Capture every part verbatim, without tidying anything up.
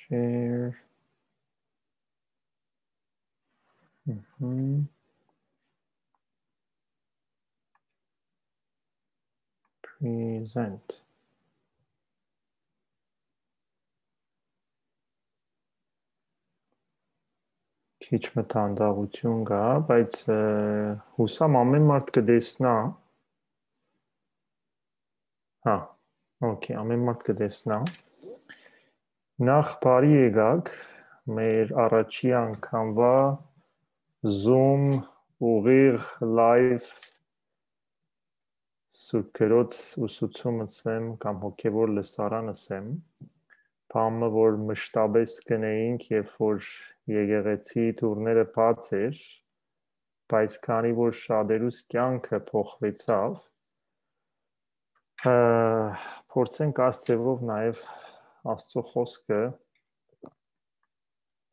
Share. Mhm. Present. Քիչ մը տանդաղութիւն կայ, բայց, ը, յուսամ ամէն մարդ կը տեսնայ։ Հա, օքեյ, ամէն մարդ կը տեսնայ։ Նախ բարի եկաք մեր առաջի անգամուա Zoom ուղիղ live Սուրբ Գրոց ուսուցում ըսեմ կամ հոգեվոր լսարան ըսեմ, բան մը, որ մշտապէս կ'ընէինք, երբ որ եկեղեցի դուռները բաց էր, բայց քանի որ շատերուս կեանքը փոխուեցաւ, ը, փորձենք այս ձևով նաեւ Աստուծոյ խօսքը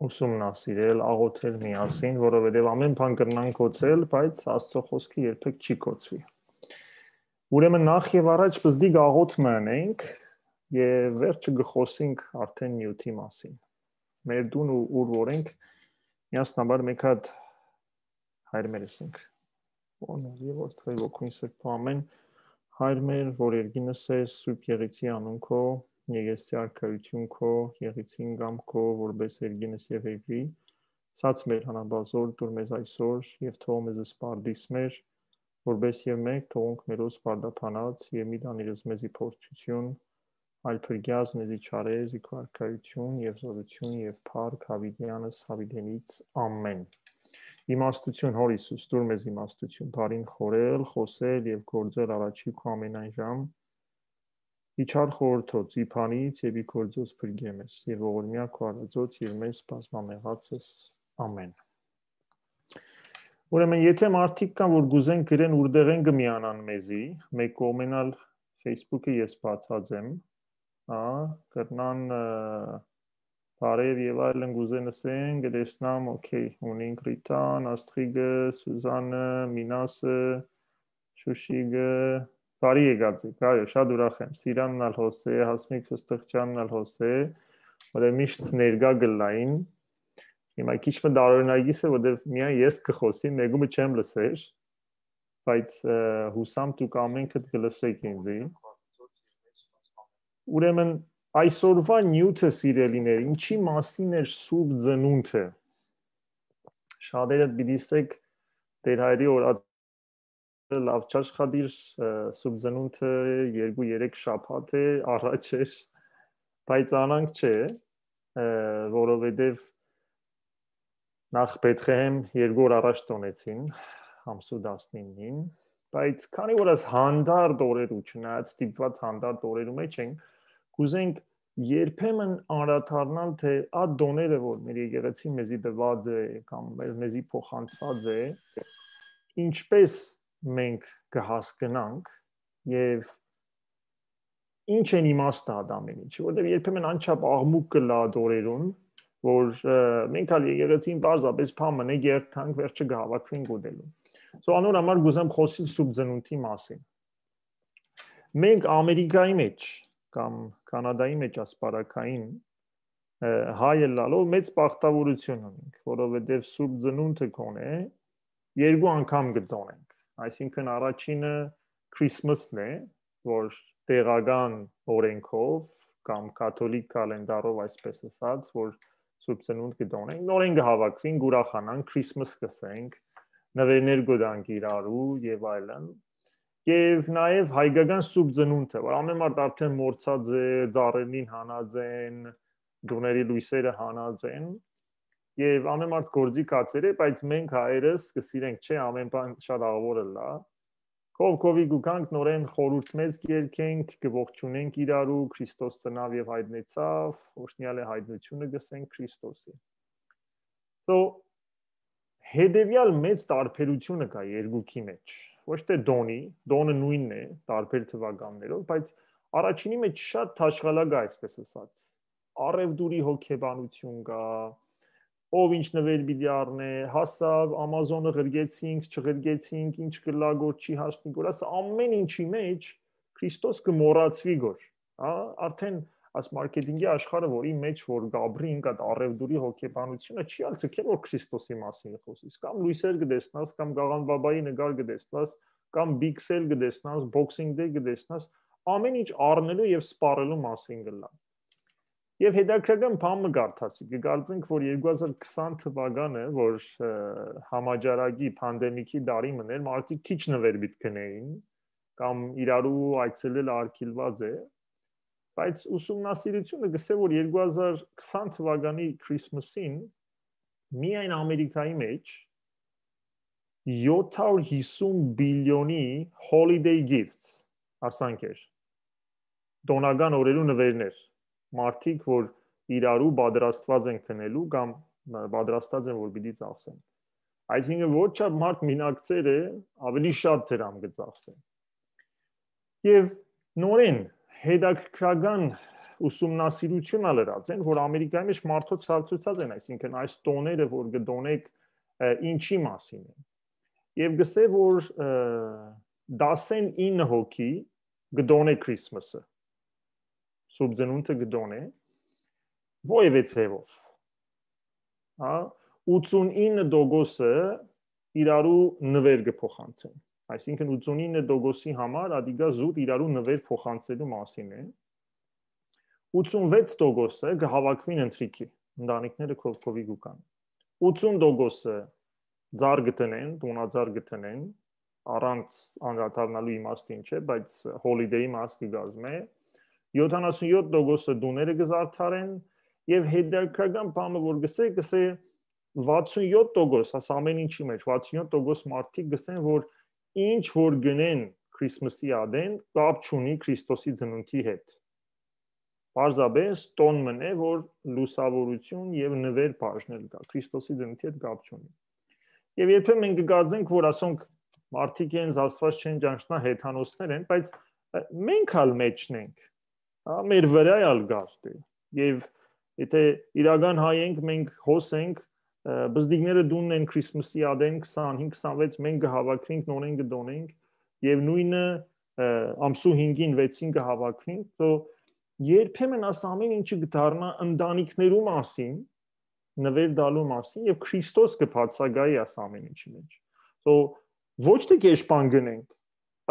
ուսումնասիրել, աղօթել միասին, որովհետեւ ամէն բան կրնանք գոցել, բայց Աստուծոյ խօսքը երբեք չի գոցուի։ Ուրեմն նախ եւ առաջ պզդիկ աղօթ մը ընենք եւ վերջը կը խօսենք արդեն նիւթի մասին։ Մեր տուն ու ուր որ ենք, միասնաբար մեկ հատ հայր մեր ըսենք։ Օրհնելի Որդի, Ոգին Սրբու ամէն հայր մեր, որ երկինս ես, Սուրբ Եղեցի անուն քո, Եղեցի արքայություն քո, Եղեցին կամ քո, որպես երկինս եւ երկրի, սած մեր հանապազոր, դուր մեզ այսօր եւ թող մեզ սպարդիս մեր, որպես եւ մենք թողունք մերոս պարտապանած եւ մի տանիրս մեզի փորձութիւն, այլ փրկյազ մեզի չարեզի քո արքայություն եւ զորություն եւ փառք հավիտյանս հավիտենից։ Ամեն։ Իմաստություն, Հոր Յիսուս, դուր մեզ իմաստություն, բարին խորել, խօսել եւ գործել առաջի քո ամենայն ժամ, ի չար խորհրդոց, ի բանից եւ ի գործոց փրկե մեզ եւ ողորմյա քո արածոց եւ մեզ բազմամեղացս։ Ամեն։ Ուրեմն, եթե մարդիկ կան, որ գուզեն գրեն, ուրդեղեն կը միանան մեզի, մեկ կողմէն ալ Facebook-ը ես բացած եմ, ա, կրնան, ը, բարեւ եւ այլն գուզեն ըսեն, կտեսնամ, օքեյ, ունինք Ռիտան, Աստղիկը, Սուզանը, Մինասը, Շուշիկը, բարի եկած եք, այո, շատ ուրախ եմ, Սիրանն ալ հոս է, Հասմիկ Ֆստղճանն ալ հոս է, որտեղ միշտ ներկայ կ'ըլլային, հիմա քիչ մը տարօրինակիս է, որտեղ միայն ես կը խոսի, մեկումը չեմ լսեր, բայց, ը, յուսամ դուք ամենքդ կը լսեք ինձի։ Ուրեմն այսօրվա նիւթը, սիրելիներ, ինչի մասին էր Սուրբ Ծնունդը։ Շատերդ պիտի ասեք, Տեր Հայրի օր լաւ չաշխատիր, ը, Սուրբ Ծնունդը երկու-երեք շաբաթ է առաջ էր, բայց անանք չէ, ը, որովհետեւ նախ Բեթղեհեմ երկու օր առաջ տոնեցին, ամսու տասնիննին, բայց քանի որ այս հանդարտ օրերու, չնայած ստիպված հանդարտ օրերու մեջ ենք, կուզենք երբեմն անդրադառնալ, թե այդ տոները, որ մեր եկեղեցին մեզի տված է կամ մեր, մեզի փոխանցված է, ինչպես մենք կը հասկնանք եւ ինչ են իմաստը այդ ամեն ինչի, որտեղ երբեմն անչափ աղմուկ կը լա այդ օրերուն, որ, ը, մենք ալ եկեղեցին պարզապես փամն է երթանք, վերջը կը հավաքվենք ուտելու։ So անոր համար կուզեմ խոսիլ Սուրբ Ծնունդի մասին։ Մենք Ամերիկայի մեջ կամ Կանադայի մեջ ասպարակային, ը, հայ ըլլալով մեծ բախտավորություն ունենք, որովհետեւ Սուրբ Ծնունդը կոնե երկու անգամ կը տոնենք։ Այսինքն առաջինը Christmas-ն է, որ տեղական օրենքով կամ կաթոլիկ կալենդարով, այսպես ասած, որ Սուրբ Ծնունդ կը տոնենք, նորեն կը հավաքվենք, ուրախանանք, Christmas կ'ըսենք, նվերներ կու տանք իրարու եւ այլն։ Եւ նաեւ հայկական Սուրբ Ծնունդը, որ ամեն մարդ արդեն մոռցած է, ծառերնին հանած են, տուների լոյսերը հանած են, եւ ամեն մարդ գործի կացեր է, բայց մենք հայերս կը սիրենք, չէ, ամեն բան շատ աղվոր ըլլա։ Քով քովի կու գանք, նորեն խորհուրդ մեծ կերքենք, կը ողջունենք իրարու, Քրիստոս ծնաւ եւ հայտնեցաւ, օրհնյալ է հայտնությունը, կ'ըսենք Քրիստոսի։ So, հետեւեալ մեծ տարբերությունը կայ երկուքի մեջ։ Ոչ թե տոնի, տոնը նոյնն է, տարբեր թուականներով, բայց առաջինի մեջ շատ թաշկալակ է, այսպես ասած։ Առեւտուրի հոգեբանություն կայ, ով ինչ նվեր պիտի առնէ, հասաւ, Amazon-ը ղրկեցինք, չղրկեցինք, ինչ կ'ըլլայ գոր, չի հասնի գոր, ասա, ամեն ինչի մեջ Քրիստոս կը մոռացուի գոր, հա, արդեն այս մարքեթինգի աշխարհը, որի մեջ որ կապրինք, այդ առևտուրի հոգեբանությունը չի ալ ցկել, որ Քրիստոսի մասին կը խօսիս, կամ լոյսեր կը տեսնաս, կամ Գաղան Բաբայի նկար կը տեսնաս, կամ Big Sale կը տեսնաս, Boxing Day կը տեսնաս, ամեն ինչ առնելու եւ սպառելու մասին կ'ըլլայ։ Եւ հետաքրքրական բան մը կարդացի, կը կարծենք, որ երկու հազար քսան թվականը, որ, ը, համաճարակի, պանդեմիքի տարի մն էր, մարդիկ քիչ նուեր պիտի գնեին, կամ իրարու այցելել արգիլուած է, բայց ուսումնասիրությունը կ'ըսէ, որ երկու հազար քսան թվականի Christmas-ին միայն Ամերիկայի մեջ յոթ հարյուր հիսուն բիլիոնի holiday gifts, ասանք էր, տօնական օրերու նուերներ, մարդիկ, որ իրարու պատրաստված են գնելու կամ, ը, պատրաստած են, որ պիտի ծախսեն։ Այսինքն, որ չափ մարդ մինակցեր է, ավելի շատ դրամ կը ծախսեն։ Եւ նորեն հետաքրքրական ուսումնասիրություն ալ ըրած են, որ Ամերիկայի մեջ մարդոց հարցուցած են, այսինքն, այս տոները, որ կը տոնեք, ը, ինչի մասին են։ Եւ գսե, որ, ը, տասնինը հոգի կը տոնէ Christmas-ը, Սուրբ Ծնունդը կը տոնէ, որևէ ձևով, հա, ութսունինը տոկոսը իրարու նուեր կը փոխանցեն։ Այսինքն, ութսունինը տոկոսի համար ադիկա զուտ իրարու նուեր փոխանցելու մասին է։ Ութսունվեց տոկոսը կը հավաքուին ընթրիքի, ընտանիքները քով-քովի կու կան։ Ութսուն տոկոսը ձար կը տնեն, տունածար կը տնեն, առանց անդրադառնալու իմաստին չէ, բայց holiday-ի մաս կը կազմէ։ Յոթանասուն յոթ տոկոսը տուները կը զարդարեն, եւ հետաքրքրական բանը, որ գսե, գսե վաթսուն յոթ տոկոս, աս ամեն ինչի մեջ, վաթսուն յոթ տոկոս մարդիկ գսեն, որ ինչ որ գնեն Christmas-ի ադեն, կապ չունի Քրիստոսի ծնունդի հետ։ Պարզապէս տոն մն է, որ լուսաւորություն եւ նուեր բաժնել կայ, Քրիստոսի ծնունդի հետ կապ չունի։ Եւ երբեմն մենք կգարձենք, որ ասոնք մարդիկ են, Աստված չեն ճանչնայ, հեթանոսներ են, բայց, ը, մենք ալ մեջն ենք, հա, մեր վրայ ալ գազդ է։ Եւ եթե իրական հայ ենք, մենք հոս ենք, ը, բզդիկները տունն են Christmas-ի ադեն, քսանհինգ, քսանվեց, մենք կը հավաքվենք, նորեն կը տոնենք, եւ նոյնը, ը, ամսու հինգին, վեցին կը հավաքվենք, so երբեմն աս ամեն ինչը կը դառնայ ընտանիքներու մասին, նուեր տալու մասին, եւ Քրիստոս կը բացակայի աս ամեն ինչի մեջ։ So ոչ թե կերպ բան գնենք,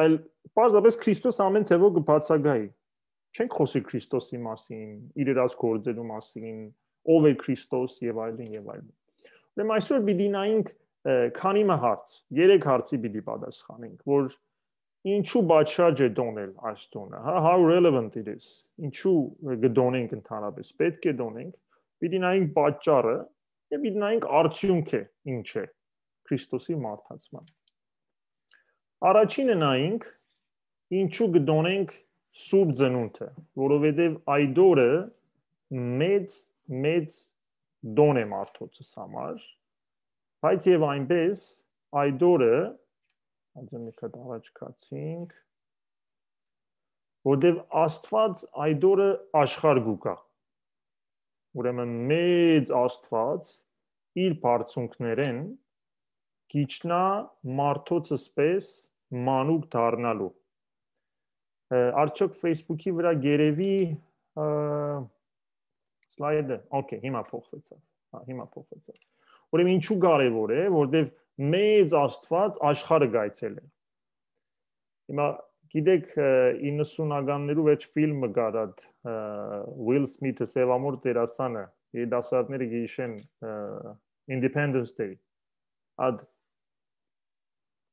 այլ պարզապէս Քրիստոս ամեն թեւով կը բացակայի։ Չենք խօսի Քրիստոսի մասին, իր իրաց գործերու մասին, ով է Քրիստոս եւ այլն, եւ այլն։ Ուրեմն այսօր պիտի նայենք, ը, քանի մը հարց, երեք հարցի պիտի պատասխանենք, որ ինչու պատշաճ է տոնել այս տունը, հա, how relevant it is, ինչու կը տոնենք ընդհանրապես, պէտք է տոնենք, պիտի նայենք պատճառը եւ պիտի նայենք արդյունքը ինչ է Քրիստոսի մարդացման։ Առաջինը նայենք, ինչու կը տոնենք Սուրբ Ծնունդը, որովհետեւ այդ օրը մեծ, մեծ տոն է մարդոցս համար, բայց եւ այնպես այդ օրը, անձը մի քիչ առաջ գացինք, որտեւ Աստված այդ օրը աշխարհ կու գայ։ Ուրեմն մեծ Աստված իր բարձունքներեն կիջնայ մարդոցս պէս մանուկ դառնալու։ Ը, արդյոք Facebook-ի վրա գերեւի, ը, slide-ը, okay, հիմա փոխվեցաւ։ Հա, հիմա փոխվեցաւ։ Ուրեմն ինչու կարեւոր է, որտեւ մեծ Աստված աշխարհը կայցելէ։ Հիմա գիտեք, ը, իննսունականներու վեց ֆիլմը կար, այդ, ը, Will Smith-ը, սեւամորթ դերասանը, երիտասարդները գիշեն, ը, Independence Day, այդ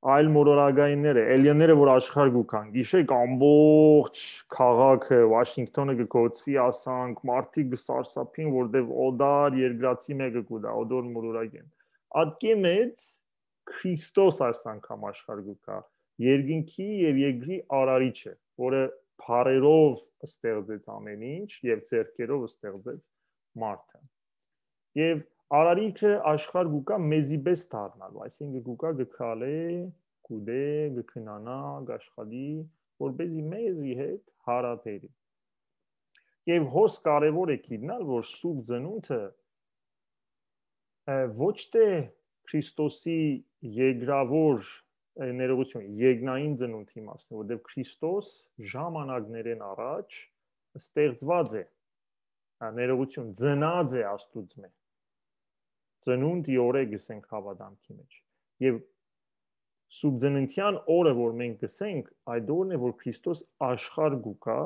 այլ մոլորակայինները, էլիենները, որ աշխարհ կու կան, գիշեք ամբողջ քաղաքը, Washington-ը կը կոծուի, ասանք, մարդիկ կը սարսափին, որտեւ օտար երկրացի մեկը կու տայ, օտոր մոլորակէն։ Ատկէ մեծ Քրիստոս այս անգամ աշխարհ կու գայ, երկնքի եւ երկրի արարիչը, որը բառերով ստեղծեց ամեն ինչ եւ ձեռքերով ստեղծեց մարդը։ Եւ արարիչը աշխարհ կու գայ մեզի պէս դառնալու, այսինքն կու գայ, կը քալէ, կուտէ, կը քնանայ, կաշխատի, որպեսզի մեզի հետ յարաբերի։ Եւ հոս կարեւոր է գիտնալ, որ Սուրբ Ծնունդը, ը, ոչ թե Քրիստոսի երկրավոր, ը, ներողություն, երկնային ծնունդի իմաստն է, որտեղ Քրիստոս ժամանակներէն առաջ ստեղծված է ա, ներողություն, ծնած է Աստուծմէ։ Ծնունդ ի օրէ գսենք հաւատամքի մէջ։ Եւ Սուրբ Ծննդեան օրը, որ մենք գսենք, այդ օրն է, որ Քրիստոս աշխարհ կու գայ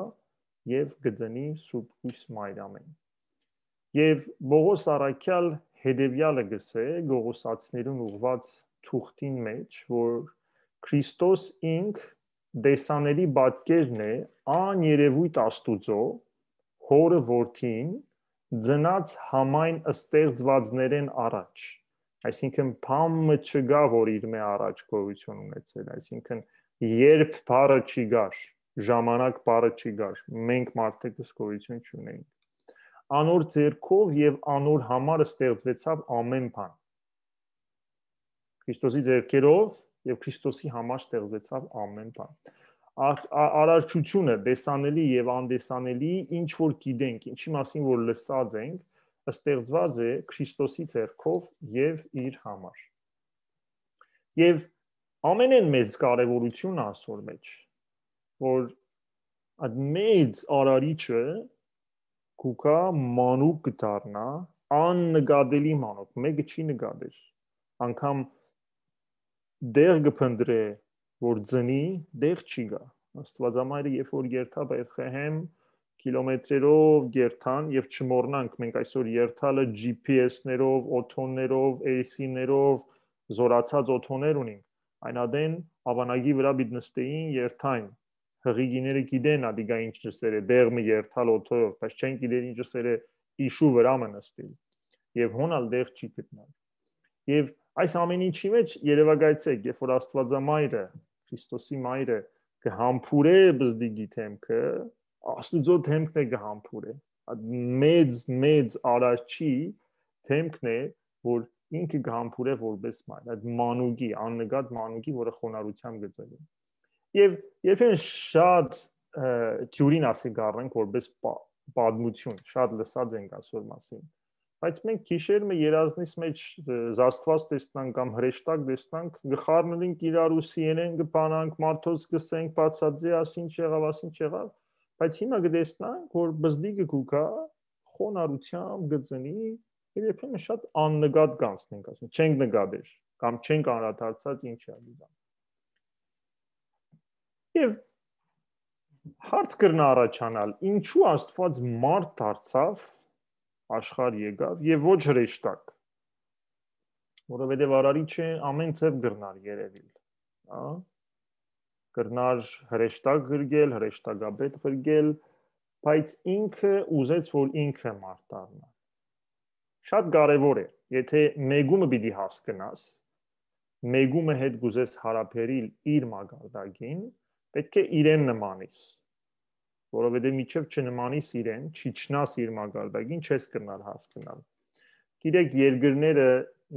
եւ կը ծնի Սուրբ Յոյս Մարիամէն։ Եւ Պողոս առաքեալ հետեւեալը գսէ Կողոսացիներուն ուղղուած թուղթին մէջ, որ Քրիստոս ինք տեսանելի պատկերն է աներևոյթ Աստուծոյ, Հօրը Որդին, ծնած համայն ստեղծուածներէն առաջ։ Այսինքն, բան մը չկայ, որ իրմէ առաջ գոյութիւն ունեցեր, այսինքն, երբ բառը չի գար, ժամանակ բառը չի գար, մենք մարդիկս գոյութիւն չունենք։ Անոր ձեռքով եւ անոր համար ստեղծուեցաւ ամէն բան։ Քրիստոսի ձեռքերով եւ Քրիստոսի համար ստեղծվեցաւ ամէն բան։ Ա- ա- արարչությունը, տեսանելի եւ անտեսանելի, ինչ որ գիտենք, ինչի մասին որ լսած ենք, ստեղծված է Քրիստոսի ձեռքով եւ իր համար։ Եւ ամենէն մեծ կարեւորությունը ասոր մէջ, որ այդ մեծ արարիչը կուքա մանուկ կդառնա, աննկատելի մանուկ, մեկը չի նկատեր, անգամ դեղ կը փնտրէ, որ ծնի, դեղ չի գա։ Աստուածամայրը, երբ որ երթա Բեթղեհեմ, կիլոմետրերով երթան եւ չմոռնանք, մենք այսօր երթալը G P S-ներով, օթոններով, A C-ներով, զորացած օթոներ ունենք, այն ատեն ավանագի վրա պիտի նստեին, երթային։ Հղիգիները գիտեն ատիկա ինչ ըսեր է, դեղ մը երթալ օթոյով, բայց չեն գիտեր ինչ ըսեր է իշու վրա մը նստիլ։ Եւ հոն ալ դեղ չի գտնար։ Եւ այս ամեն ինչի մէջ երեւակայեցեք, երբ որ Աստուածամայրը, Քրիստոսի մայրը կը համբուրէ բզդիգի դեմքը, Աստուծոյ դեմքն է կը համբուրէ։ Այդ մեծ, մեծ արարչի դեմքն է, որ ինքը կը համբուրէ որպես մայր, այդ մանուկի, աննկատ մանուկի, որը խոնարհությամբ կը ծնի։ Եւ երբեմն շատ, ը, թիուրին ասի կառնենք որպես պա- պատմություն, շատ լսած ենք ասոր մասին։ Բայց մենք գիշեր մը երազնիս մէջ, ը, Աստուած տեսնանք կամ հրեշտակ տեսնանք, կը խառնենք իրար ու սիենեն կը բանանք, մարդոց կսենք, բացատրի, աս ինչ եղաւ, աս ինչ եղաւ, բայց հիմա կը տեսնանք, որ բզդիգը կուքա խոնարհությամբ կը ծնի, եւ երբեմն շատ աննկատ կանցնենք, ասենք, չենք նկատեր կամ չենք անդրադարձած ինչ ա դիզան։ Եւ հարց կրնա առաջանալ, ինչու Աստուած մարդ դարձավ, աշխարհ եկաւ եւ ոչ հրեշտակ, որովհետեւ արարիչը ամեն ձեւ կրնար երևիլ, հա? Կրնար հրեշտակ ղրկել, հրեշտակապետ ղրկել, բայց ինքը ուզեց, որ ինքը մարդ դառնա։ Շատ կարեւոր է, եթե մեկումը պիտի հասկնաս, մեկումը հետ կուզես հարաբերիլ իր մակարդակին, պետք է իրեն նմանիս, որովհետեւ մինչեւ չնմանիս իրեն, չիջնաս իր մակարդակին, չես կրնար հասկնալ։ Գիտեք, երկրները,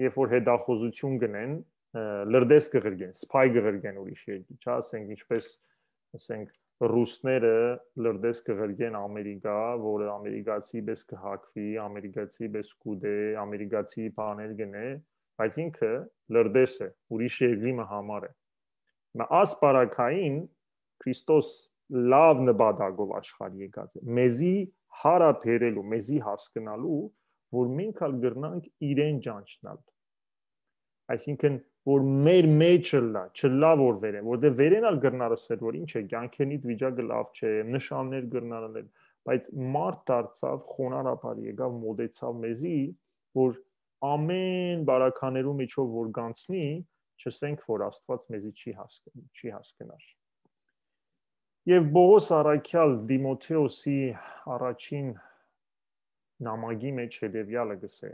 երբ որ հետախուզություն կ'ընեն, ը, լրտես կը ղրկեն, սփայ կը ղրկեն ուրիշ երկրի, չէ՞, ասենք, ինչպես, ասենք, ռուսները լրտես կը ղրկեն Ամերիկա, որը ամերիկացի պես կը հագուի, ամերիկացի պես կ'ուտէ, ամերիկացի բաներ կ'ընէ, բայց ինքը լրտես է, ուրիշ երկրի մը համար է։ Մը աս պարագային Քրիստոս լաւ նպատակով աշխարհ եկած է, մեզի հարաբերելու, մեզի հասկնալու, որ մենք ալ կրնանք իրեն ճանչնալ։ Այսինքն, որ մեր մեջ ըլլա, չըլլա որ վերեն, որտեղ վերեն ալ կրնար ասել, որ ինչ է, կյանքենիդ վիճակը լավ չէ, նշաններ կրնար ալ, բայց մարդ դարձավ, խոնարհաբար եկավ, մոտեցավ մեզի, որ ամեն բարականերու միջով որ գանցնի, չսենք, որ Աստուած մեզի չի հասկ-, չի հասկնար։ Եւ Պողոս առաքյալ Տիմոթեոսի առաջին նամակի մեջ հետեւեալը գսէ.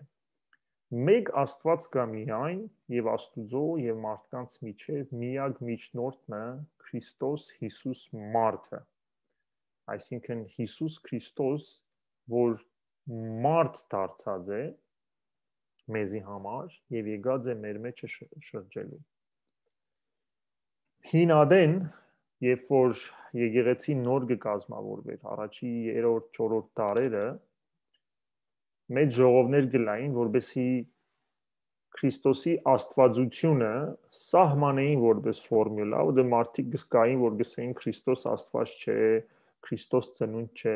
«Մեկ Աստուած կա միայն, եւ Աստուծոյ եւ մարդկանց միջեւ միակ միջնորդն է Քրիստոս Յիսուս մարդը»։ Այսինքն՝ Յիսուս Քրիստոս, որ մարդ դարձած է մեզի համար եւ եկած է մեր մեջը շ-, շրջելու։ Հին ադեն, երբ որ եկեղեցին նոր կը կազմավորվեր, առաջի երրորդ, չորրորդ դարերը, մեծ ժողովներ կ'ըլլային, որպեսզի Քրիստոսի աստվածությունը սահմանեին որպես ֆորմուլա, որտեղ մարդիկ կ'սկային, որ կ'ըսեին՝ «Քրիստոս Աստված չէ, Քրիստոս ծնունդ չէ»։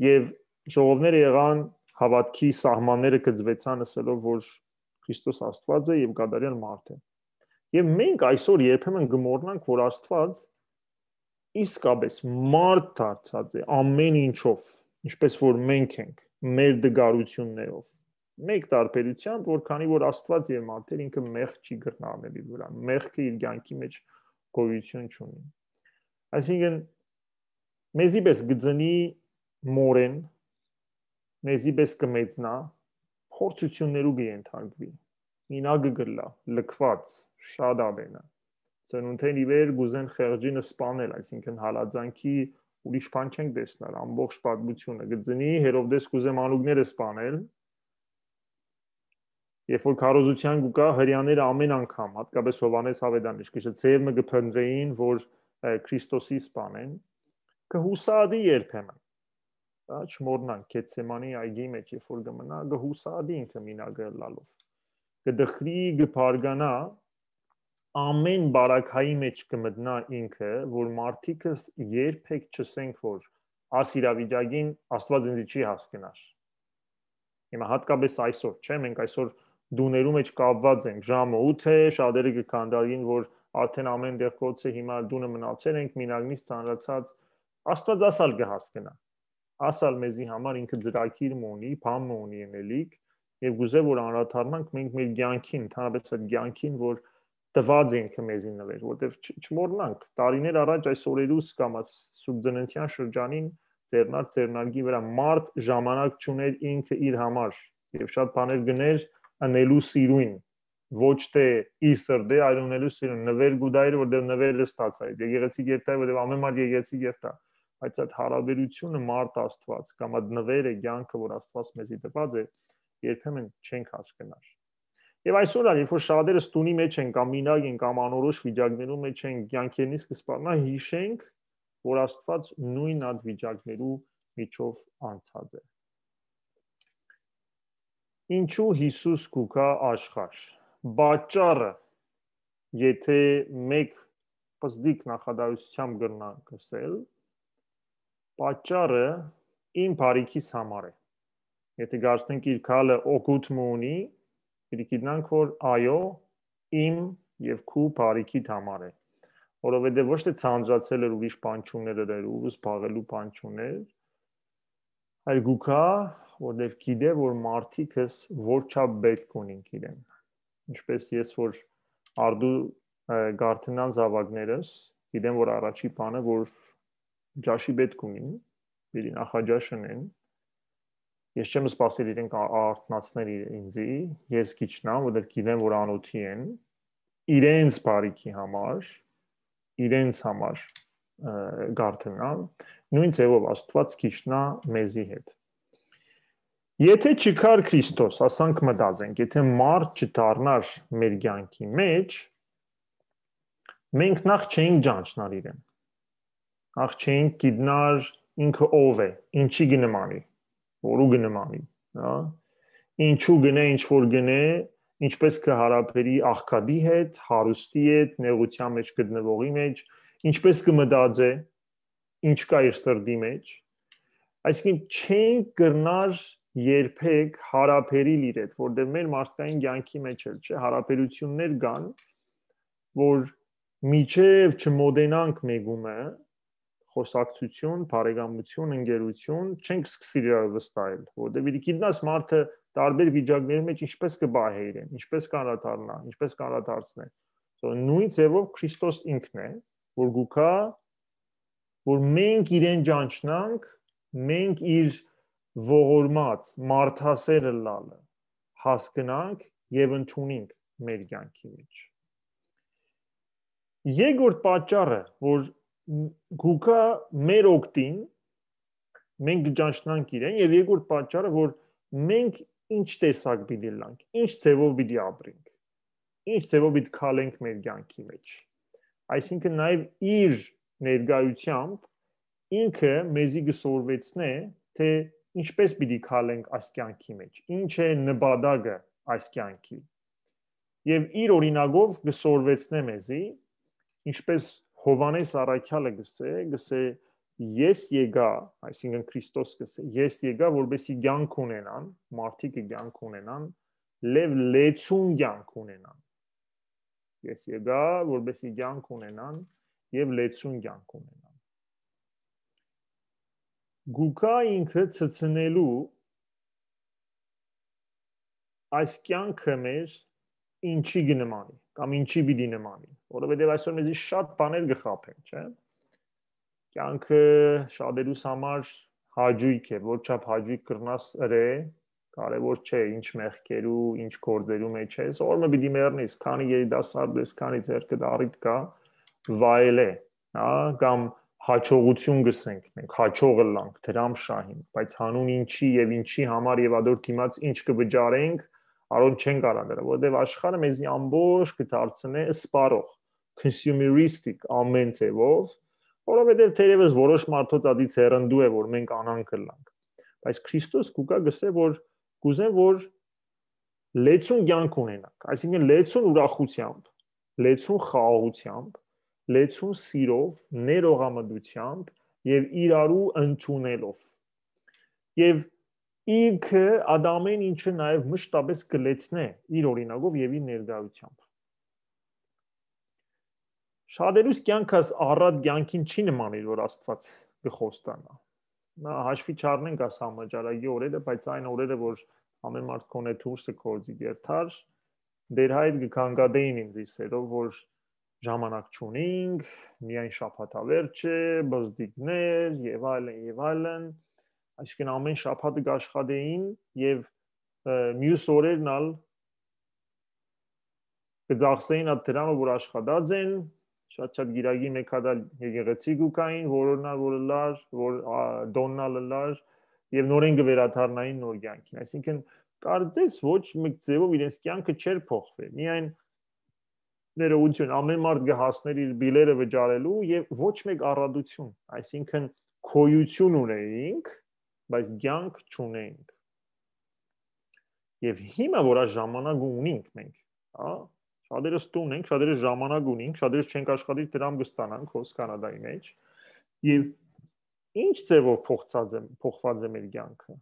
Եւ Ժողովները եղան, հաւատքի սահմանները գծուեցան, ըսելով որ Քրիստոս Աստուած է եւ կատարյալ մարդ է։ Եւ մենք այսօր երբեմն կմոռնանք, որ Աստուած իսկապես մարդ դարձած է ամեն ինչով, ինչպես որ մենք ենք, մեր դգարութիւններով։ Մեկ տարբերությամբ, որ քանի որ Աստուած եւ մարդեր, ինքը մեղք չի կրնարնել իր վրայ, մեղքը իր կեանքի մէջ գոյութիւն չունի։ Այսինքն, մեզի պէս կը ծնի մօրէն, մեզի պէս կը մեծնայ, փորձութիւններու կը ենթարկուի, մինակը կ'ըլլայ, լքուած, շատ ատենը։ Ծնունդէն ի վեր կ'ուզեն խեղճին սպանել, այսինքն՝ հալածանքի ուրիշ բան չենք տեսնար, ամբողջ պատմութիւնը կը ծնի, Հերովդէս կ'ուզէ մանուկները սպանել, երբ որ քարոզութեան կու գայ, հրեաները ամեն անգամ, հատկապես Յովհաննէս Աւետարանը, իշքիչը ձեւ մը կը փնտռէին, որ, ը, Քրիստոսի սպանեն, կը յուսատի երբեմն։ Հա, չմոռնանք, Գեթսեմանի այգի մէջ, երբ որ կը մնայ, կը յուսատի ինքը մինակը ըլլալով։ Կը դխրի, կը բարգանայ, ամեն բարագայի մէջ կը մտնայ ինքը, որ մարդիկս երբեք չսենք, որ աս իրավիճակին Աստուած ինձի չի հասկնար։ Հիմա հատկապես այսօր, չէ՞, մենք այսօր դուներու մէջ կապուած ենք, ժամը ութ է, շատերը կը քանդակին, որ արդեն ամեն տեղ կոց է, հիմա դունը մնացել ենք, մինակ նիստ հանրացած, Աստուած ասալ կը հասկնայ։ Ասալ մեզի համար ինքը ծրագիր մը ունի, բան մը ունի ըլելիք, եւ կ'ուզէ որ անդրադառնանք մենք մեր կեանքին, ընդհանրապես այդ կեանքին, որ տուած է ինքը մեզի նուէր, որտեւ չ-, չմոռնանք, տարիներ առաջ այս օրերուս կամ այս սուրբ ծննդեան շրջանին ձեռնարկ ձեռնարկի վրայ մարդ ժամանակ չունէր ինքը իր համար, եւ շատ բաներ գներ ընելու սիրուն, ոչ թե իր սրտէ, այլ ունելու սիրուն, նուէր կու տայր, որտեւ նուէր ստացայ, եկեղեցի կերտայ, որտեւ ամեն մարդ եկեղեցի կերտայ, բայց այդ հարաբերությունը մարդ Աստուած կամ այդ նուէրը, կեանքը, որ Աստուած մեզի տուած է, երբեմն չենք հասկնար։ Եւ այսօր ալ, երբ որ շատերս տունի մէջ են կամ մինակ են կամ անորոշ վիճակներու մէջ են, կեանքերնից կը սպառնայ, յիշենք, որ Աստուած նոյն այդ վիճակներու միջով անցած է։ Ինչու Յիսուս կու գայ աշխարհ։ Պատճառը, եթե մեկ պզդիկ նախադասությամբ կրնանք ըսել, պատճառը իմ բարիքիս համար է։ Եթե կարծենք իր քալը օգուտ մը ունի, պիտի գիտնանք, որ այո, իմ եւ քու բարիքիդ համար է, որովհետեւ ոչ թե ձանձրացել էր, ուրիշ բան չուներ, էր ու զբաղելու բան չուներ, այլ գուքա, որտեւ գիտե, որ մարդիկս որչափ պետք ունին իրեն։ Ինչպես ես որ արդու, ը, գարթնան զավակներս, գիտեմ, որ առաջի բանը, որ ճաշի պետք ունին, պիտի նախաճաշ ընեն, ես չեմ սպասել իրենք ա-, արթնացնել իր-, ինձի, ես կիջնամ, որտեւ գիտեմ, որ անօթի են, իրենց բարիքի համար, իրենց համար, ը, գարթնամ, նոյն ձեւով Աստուած կիջնայ մեզի հետ։ Եթե չկար Քրիստոս, ասանք մտածենք, եթե մարդ չդառնար մեր կեանքի մէջ, մենք նախ չէինք ճանչնար իրեն, նախ չէինք գիտնար ինքը ով է, ինչի կը նմանի, որու կը նմանի, հա? Ինչու գնե, ինչ որ գնե, ինչպես կը հարաբերի աղքատի հետ, հարուստի հետ, նեղության մեջ գտնվողի մեջ, ինչպես կը մտածէ, ինչ կայ իր սրտի մեջ, այսինքն՝ չենք կրնար երբեք հարաբերիլ իր հետ, որտեղ մեր մարդկային կյանքի մեջ էլ, չէ, հարաբերություններ կան, որ միջև չմոտենանք մեկումը, խոսակցություն, բարեկամություն, ընկերություն, չենք սկսիր իրարու վստահել, որտեղ պիտի գիտնաս մարդը տարբեր վիճակների մեջ ինչպես կը պահէ իրեն, ինչպես կանդրադառնայ, ինչպես կանդրադարձնէ։ So, նոյն ձևով Քրիստոս ինքն է, որ գուքա, որ մենք իրեն ճանչնանք, մենք իր ողորմած, մարդասեր ըլլալը հասկնանք եւ ընդունենք մեր կյանքի մեջ։ Երկրորդ պատճառը, որ գուքա մեր օգտին, մենք կճանչնանք իրեն, եւ երկրորդ պատճառը, որ մենք ինչ տեսակ պիտի ըլլանք, ինչ ձևով պիտի ապրենք, ինչ ձևով պիտի քալենք մեր կյանքի մեջ։ Այսինքն՝ նաեւ իր ներկայությամբ ինքը մեզի կը սորվեցնէ, թե ինչպես պիտի քալենք այս կյանքի մեջ, ինչ է նպատակը այս կյանքի։ Եւ իր օրինակով կը սորվեցնէ մեզի, ինչպես Յովհաննէս առաքյալը գսէ, գսէ, ես եկայ, այսինքն Քրիստոս կ'ըսէ, ես եկայ, որպեսզի կեանք ունենան, մարդիկը կեանք ունենան, լեւ լեցուն կեանք ունենան։ Ես եկայ, որպեսզի կեանք ունենան եւ լեցուն կեանք ունենան։ Գուկա ինքը ցցնելու այս կեանքը մեր ինչի կը նմանի, կամ ինչի պիտի նմանի, որովհետեւ այսօր մեզի շատ բաներ կը խաբեն, չէ՞։ Կեանքը շատերուս համար հաճոյք է, որ չափ հաճոյք կրնաս ըրե, կարեւոր չէ ինչ մեղքերու, ինչ գործերու մեջ ես, օր մը պիտի մեռնես, քանի երիտասարդ ես, քանի ձեռքդ առիթ կա, վայելէ, հա, կամ հաջողություն կ'ըսենք մենք, հաջող ըլլանք, դրամ շահին, բայց հանուն ինչի եւ ինչի համար եւ ադոր դիմաց ինչ կը վճարենք, արոն չեն կարող դրը, որովհետեւ աշխարհը մեզի ամբողջ կը դարձնէ սպառող, consumeristic ամեն ձեւով, որովհետեւ թերեւս որոշ մարդոց ադից հեռանդու է, որ մենք անանկ ըլլանք, բայց Քրիստոս կուկա գսե, որ կուզեմ, որ լեցուն կեանք ունենանք, այսինքն լեցուն ուրախությամբ, լեցուն խաղաղությամբ, լեցուն սիրով, ներողամտությամբ եւ իրարու ընդունելով։ Եւ ինքը ադամեն ինչը նաեւ մշտապես կլեցնէ իր օրինակով եւ իր ներկայությամբ։ Շատերուս կեանքս առատ կեանքին չի նմանիր, որ Աստված կը խոստանա։ Նա հաշվի չառնենք աս համաճարակի օրերը, բայց այն օրերը, որ ամեն մարդ կոնե դուրսը գործի գերթար, դեր հայր կը կանգատեին ինձ իսերով, որ ժամանակ չունինք, միայն շաբաթավերջ է, բզդիկներ եւ այլն, եւ այլն, այսինքն ամեն շաբաթը կաշխատեին եւ, ը, մյուս օրերն ալ կը ծախսեին այդ դրամը, որ աշխատած են, շատ-շատ գիրագի մեկ հատ ալ եկեղեցի կու կային, որոննալ որ ըլլար, որ, ա, տոննալ ըլլար, եւ նորեն կը վերադառնային նոր կյանքին։ Այսինքն, կարծես ոչ մեկ ձևով իրենց կյանքը չէր փոխվի, միայն ներողություն, ամեն մարդ կը հասներ իր բիլերը վճարելու եւ ոչ մեկ առատություն, այսինքն գոյություն ունեինք, բայց կյանք չունեինք։ Եւ հիմա, որ այս ժամանակը ունինք մենք, հա, շատերս տուն ենք, շատերս ժամանակ ունինք, շատերս չենք աշխատիր, դրամ կստանանք հոս Կանադայի մեջ, եւ ինչ ձևով փոխած է, փոխված է մեր կյանքը,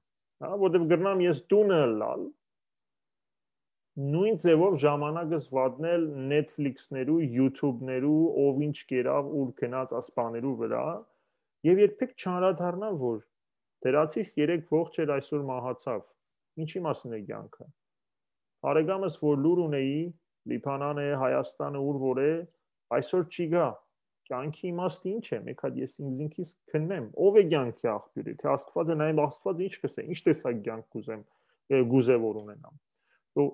հա, որտեւ կրնամ ես տունը ըլլալ, նոյն ձևով ժամանակս վատնել Netflix-ներու, YouTube-ներու, ով ինչ կերաւ, ուր գնաց, աս բաներու վրա, եւ երբեք չանդրադառնալ, որ դրացիս երեկ ողջ էր, այսօր մահացավ, ինչի՞ մասին է կյանքը։ Բարեկամս, որ լուր ունեի, Լիբանան է, Հայաստանը, ուր որ է, այսօր չի գա, կյանքի իմաստը ինչ է, մեկ հատ ես ինքզին քիզ քննեմ, ով է կյանքի աղբիւրը, թե Աստված է, նաեւ Աստված ինչ կ'ըսէ, ինչ տեսակ կյանք կ'ուզեմ, ը, կ'ուզէ որ ունենամ։ Ու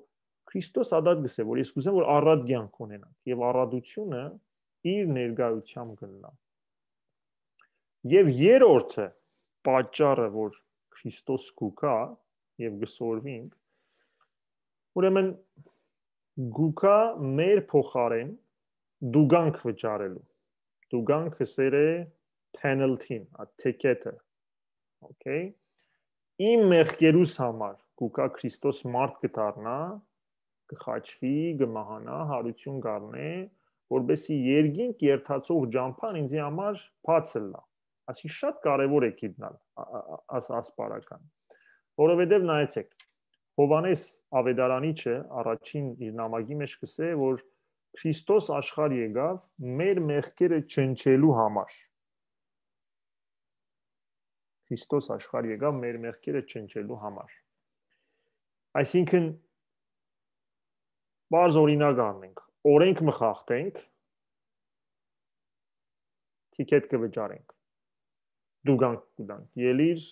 Քրիստոս ադատ կ'ըսէ, որ ես կ'ուզեմ, որ առատ կյանք ունենանք, եւ առատությունը իր ներկայությամբ կ'ըլլայ։ Եւ երրորդը, պատճառը, որ Քրիստոս կուկա եւ կ'սորվինք, ուրեմն կուկա մեր փոխարէն դուգանք վճարելու։ Դուգանքը սեր է penalty-ն, ա, ticket-ը, okay։ Իմ մեղքերուս համար կուկա Քրիստոս մարդ կը դառնա, կը խաչվի, կը մահանա, հարություն կ'առնէ, որպեսզի երկինք երթացող ճամբան ինձի համար բաց ըլլայ։ Ասի շատ կարեւոր է գիտնալ, ա, ա, ա, աս, ասպարական։ Որովհետեւ նայեցեք, Յովհաննես Ավետարանիչը առաջին իր նամակի մեջ կ'ըսէ, որ Քրիստոս աշխարհ եկաւ մեր մեղքերը ջնջելու համար։ Քրիստոս աշխարհ եկաւ մեր մեղքերը ջնջելու համար։ Այսինքն, պարզ օրինակ առնենք, օրենք մը խախտենք, ticket կը վճարենք, դուգանք կու տանք։ Ելիր,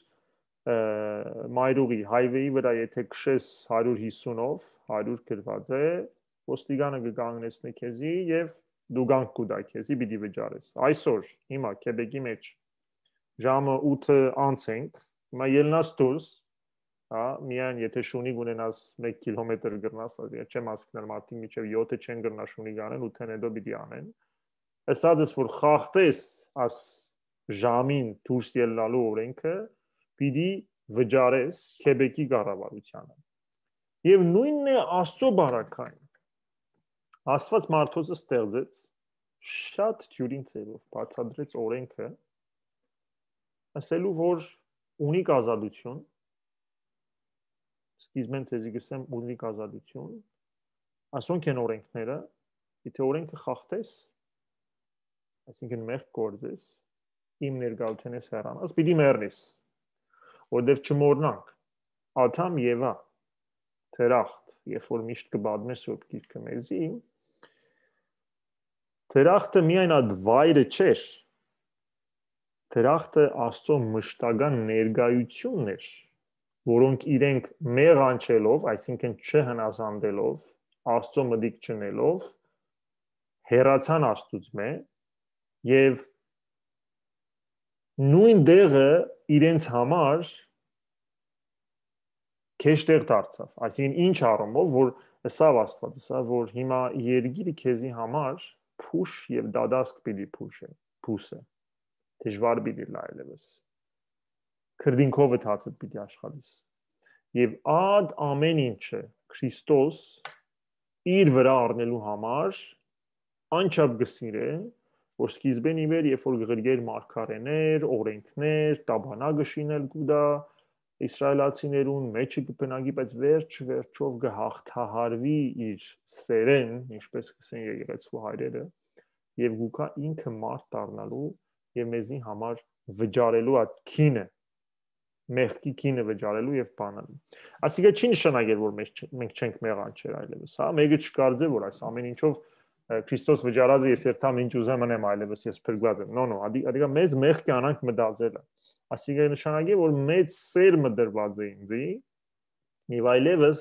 ը, Մայրուղի highway-ի վրա, եթե քշես հարիւր հիսունով, հարիւր գրված է, ոստիկանը կը կանգնեցնի քեզի եւ դուգանք կու տայ քեզի, պիտի վճարես։ Այսօր, հիմա, Քեբեկի մեջ, ժամը ութը անց ենք, հիմա ելնաս դուրս, հա, միայն եթե շունիկ ունենաս, մեկ կիլոմետր կրնաս, ասի, չեմ ասկներ մարդիկ մինչեւ յոթը չեն կրնա շունիկ անեն, ութեն հետո պիտի անեն։ Ըսած ես, որ խախտես աս ժամին դուրս ելնալու օրենքը, պիտի վճարես Քեբեկի կառավարությանը։ Եւ նոյնն է Աստծո բարակային։ Աստված մարդոց ստեղծեց, շատ դիւրին ձևով բացատրեց օրենքը, ասելու, որ ունիք ազատություն, սկիզբէն ձեզի կ'ըսեմ, ունիք ազատություն, ասոնք են օրենքները, եթէ օրենքը խախտես, այսինքն մեղք գործես, իմ ներկայութենէս հեռանաս, պիտի մեռնես, որտեւ չմոռնանք, Ադամ Եվա, դրախտ, երբ որ միշտ կը պատմէ Սուրբ Գիրքը մեզի, դրախտը միայն այդ վայրը չէր, դրախտը Աստծո մշտական ներկայությունն էր, որոնք իրենք մեղանչելով, այսինքն չհնազանդելով, Աստծո մտիկ չնելով, հեռացան Աստուծմէ եւ նոյն տեղը իրենց համար քեշտեղ դարձաւ։ Այսինքն ինչ առումով, որ ըսաւ Աստուած, ըսաւ, որ հիմա երկիրը քեզի համար փուշ եւ դատասկ պիտի փուշ է, փուս է, դժուար պիտի լայ լեւս, քրտինքովը դացդ պիտի աշխատես։ Եւ այդ ամեն ինչը Քրիստոս իր վրայ առնելու համար անչափ կը սիրէ, որ սկիզբէն ի վեր, երբ որ կը ղրկէր մարգարէներ, օրենքներ, տաբանա կը շինել կուտա, իսրայելացիներուն մեջը կը բնակի, բայց վերջ վերջով կը հաղթահարուի իր սերեն, ինչպես կ'ըսեն եկեղեցու հայրերը, եւ գուկա ինքը մարդ դառնալու եւ մեզի համար վճարելու այդ քինը, մեղքի քինը վճարելու եւ բանալու։ Ասիկա չի նշանակել, որ մենք չ-, մենք չենք մեղանչեր այլեւս, հա, մեկը չկարծէ, որ այս ամեն ինչով, ը, Քրիստոս վճարած է, ես երթամ ինչ ուզեմ ընեմ, այլեւս ես փրկված եմ։ No, no, ադի-, ադիկա մեծ մեղքի անանք մտածելը։ Ասիկա նշանակել, որ մեծ սեր մը դրված է ինձի, եւ այլեւս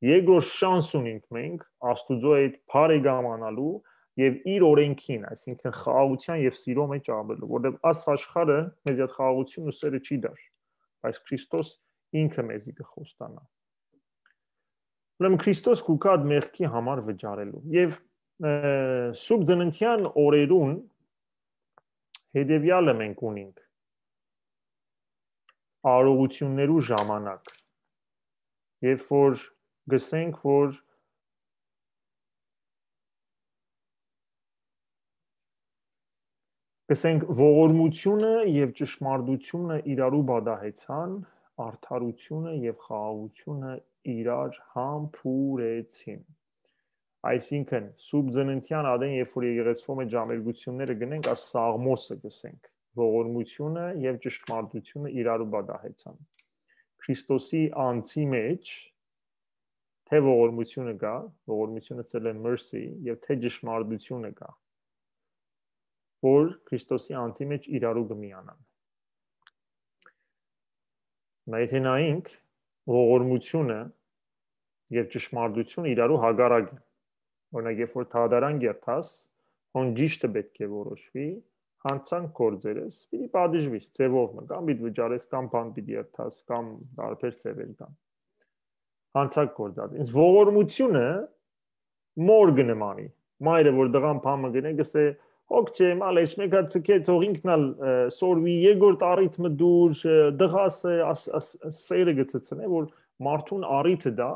երկրորդ շանս ունենք մենք Աստուծոյ հետ բարեկամանալու եւ իր օրենքին, այսինքն խաղաղութեան եւ սիրո մեջ ապրելու, որտեղ աս աշխարհը մեզի այդ խաղաղությունն ու սերը չի դար, բայց Քրիստոս ինքը մեզի կը խոստանայ։ Ուրեմն Քրիստոս կու գայ այդ մեղքի համար վճարելու։ Եւ, ը, Սուրբ Ծննդեան օրերուն հետեւեալը մենք ունենք արարողություններու ժամանակ, երբ որ գսենք, որ գսենք, ողորմությունը եւ ճշմարտությունը իրարու պատահեցան, արդարությունը եւ խաղաղությունը իրար համբուրեցին։ Այսինքն, Սուրբ Ծննդեան ատեն, երբ որ եկեղեցւոյ մէջ համերգությունները գնենք, այս սաղմոսը գսենք, ողորմությունը եւ ճշմարտությունը իրարու պատահեցան։ Քրիստոսի անձի մեջ թէ ողորմությունը կայ, ողորմությունը ըսել է mercy, եւ թէ ճշմարտությունը կայ, որ Քրիստոսի անձի մեջ իրարու կը միանան։ Հիմա եթէ նայենք, ողորմությունը եւ ճշմարտությունը իրարու հակառակ են։ Օրինակ, երբ որ դատարան կերթաս, հոն ճիշդը պէտք է որոշուի, յանցանք գործերս պիտի պատժուիս, ձեւով մը, կամ պիտի վճարես, կամ բան պիտի երթաս, կամ տարբեր ձեւեր կան։ Յանցանք գործած։ Ինձ ողորմությունը մոր կը նմանի։ Մայրը, որ տղան բան մը գնե, կ'ըսէ, «Հոգ չէ, մալեշ, մեկա ցկե, թող ինքն ալ, ը, սորվի, երկրորդ առիթ մը դուր, ը, տղաս է», աս-, աս-, սերը կը ցցնէ, որ մարդուն առիթը տայ,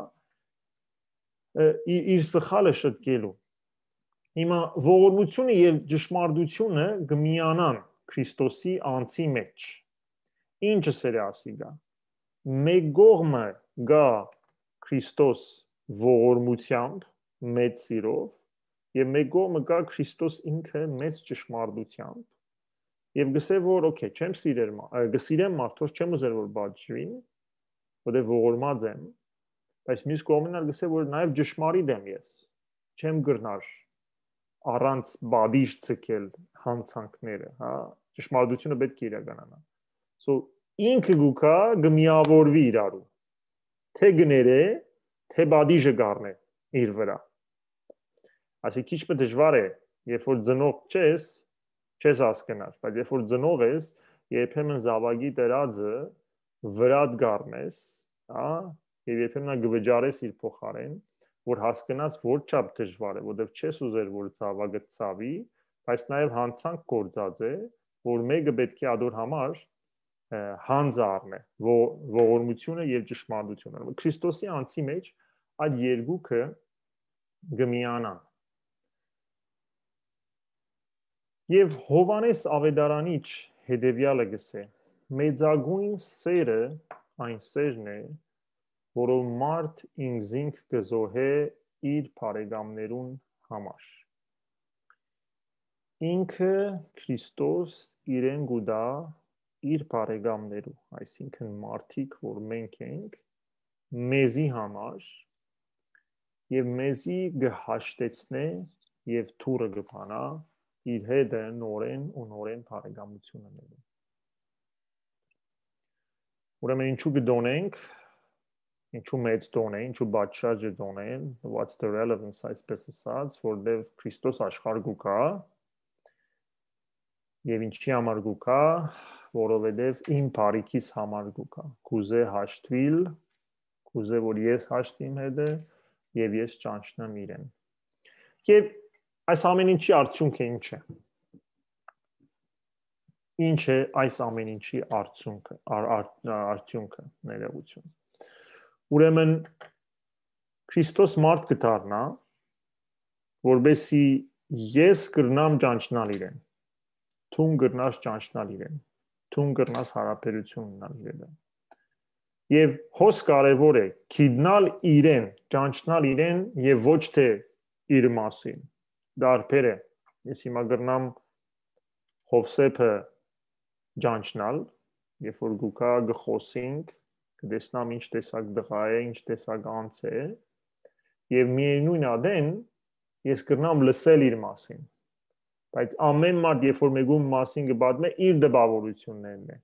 ը, ի-, իր սխալը շտկելու։ Հիմա ողորմությունը եւ ճշմարտությունը կը միանան Քրիստոսի անձի մեջ։ Ինչը սերը ասիկա։ Մէկ կողմը կայ Քրիստոս ողորմությամբ, մեծ սիրով, եւ մէկ կողմը կայ Քրիստոս ինքը մեծ ճշմարտությամբ, եւ գսէ, որ, օքեյ, չեմ սիրեր մա-, ը, կը սիրեմ մարդոց, չեմ ուզեր, որ պատժուին, որտեղ ողորմած եմ, բայց մյուս կողմին ալ գսէ, որ նաեւ ճշմարիտ եմ ես, չեմ կրնար առանց պատիժ ցկել յանցանքները, հա, ճշմարտությունը պէտք է իրականանա։ So, ինքը գուկա կը միավորուի իրարու, թէ կներէ, թէ պատիժը կառնէ իր վրայ։ Այսինքն քիչ մը դժվար է, երբ որ ծնող չես, չես հասկնար, բայց երբ որ ծնող ես, երբեմն զավակի դրածը վրադ կառնես, հա, եւ երբեմն կը վճարես իր փոխարեն, որ հասկնաս, որ չափ դժվար է, որտեւ չես ուզեր, որ զավակը ցաւի, բայց նաեւ յանցանք գործած է, որ մեկը պէտք է ադոր համար, ը, հանձը առնէ, ո-, ողորմությունը եւ ճշմարտությունը։ Քրիստոսի անձի մեջ այդ երկուքը կը միանան։ Եւ Յովհաննէս Աւետարանիչ հետեւեալը գսէ. Մեծագոյն սերը այն սերն է, որով մարդ ինքզինք կը զոհէ իր բարեկամներուն համար։ Ինքը Քրիստոս իրեն կու տայ իր բարեկամներու, այսինքն մարդիկ, որ մենք ենք, մեզի համար, եւ մեզի կը հաշտեցնէ եւ թուրը կը բանայ իր հետը նորէն ու նորէն բարեկամութիւն ընելու։ Ուրեմն ինչու կը տոնենք, ինչու մեծ տոն է, ինչու պատշաճ է տոնել, what's the relevance, այսպես ասած, որտեւ Քրիստոս աշխարհ կու գայ, եւ ինչի համար կու գայ, որովհետեւ իմ բարիքիս համար կու գայ, կուզէ հաշտուիլ, կուզէ, որ ես հաշտվի իմ հետը եւ ես ճանչնամ իրեն։ Եւ այս ամեն ինչի արդյունքը ինչ է։ Ինչ է այս ամեն ինչի արդյունքը, ար, ար, արդյունքը, ներողություն։ Ուրեմն Քրիստոս մարդ կը դառնայ, որպեսզի ես կրնամ ճանչնալ իրեն, դուն կրնաս ճանչնալ իրեն, դուն կրնաս հարաբերություն ունենալ իրեն։ Եւ հոս կարեւոր է գիտնալ իրեն, ճանչնալ իրեն եւ ոչ թե իր մասին։ Դարբեր է։ Ես հիմա կրնամ Հովսեփը ճանչնալ, երբ որ գուկա կը խոսինք, կը տեսնամ ինչ տեսակ տղայ է, ինչ տեսակ անձ է, եւ միևնույն ատեն ես կրնամ լսել իր մասին։ Բայց ամեն մարդ, երբ որ մեկուն մասին կը պատմէ, իր տպավորություններն է։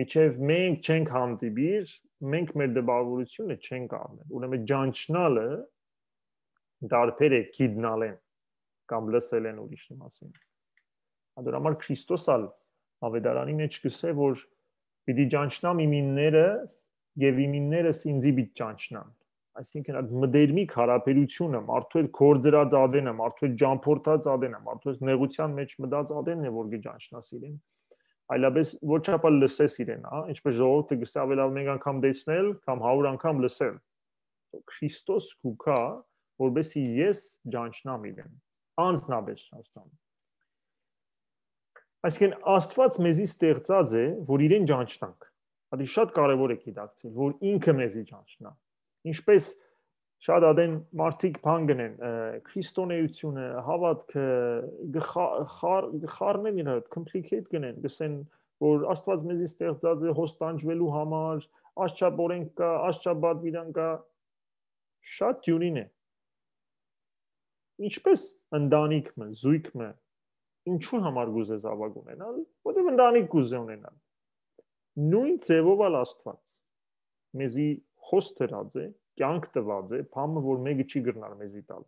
Մինչեւ մենք չենք հանդիպիր, մենք մեր տպավորությունը չենք առնել։ Ուրեմն ճանչնալը դարբեր է գիտնալեն կամ լսելեն ուրիշի մասին։ Ադոր համար Քրիստոս ալ Ավետարանի մեջ կսե, որ պիտի ճանչնամ իմ ինները եւ իմ իններս ինձի պիտի ճանչնան։ Այսինքն, այդ մտերմիկ հարաբերությունը, մարդու հետ գործրած ատենը, մարդու հետ ճամփորդած ատենը, մարդու հետ նեղության մեջ մտած ատենն է, որ կը ճանչնաս իրեն։ Այլապես ոչ ապա լսես իրեն, հա, ինչպես ժողովուրդը կսե, ավելի լաւ մեկ անգամ տեսնել կամ հարյուր անգամ լսել։ Քրիստոս կու գայ, որպեսզի ես ճանչնամ իրեն, անձնապես Աստան։ Այսինքն, Աստված մեզի ստեղծած է, որ իրեն ճանչնանք։ Ատի շատ կարեւոր է գիտակցել, որ ինքը մեզի ճանչնայ։ Ինչպես շատ ատեն մարդիկ բան կ'ընեն, ը, քրիստոնէությունը, հաւատքը, գը խա-, խար-, գը խառնեն իրար հետ, complicate կ'ընեն, կ'ըսեն, որ Աստված մեզի ստեղծած է հոստանջուելու համար, աստչապ օրենք կայ, աստչապ պատուիրան կայ, շատ դիւրին է։ Ինչպես ընտանիք մը, զոյգ մը, ինչու համար կ'ուզե զաւակ ունենալ, որտեղ ընտանիք կ'ուզե ունենալ։ Նոյն ձեւով ալ Աստված մեզի հոս դրած է, կեանք տուած է, բան մը, որ մեկը չի կրնար մեզի տալ։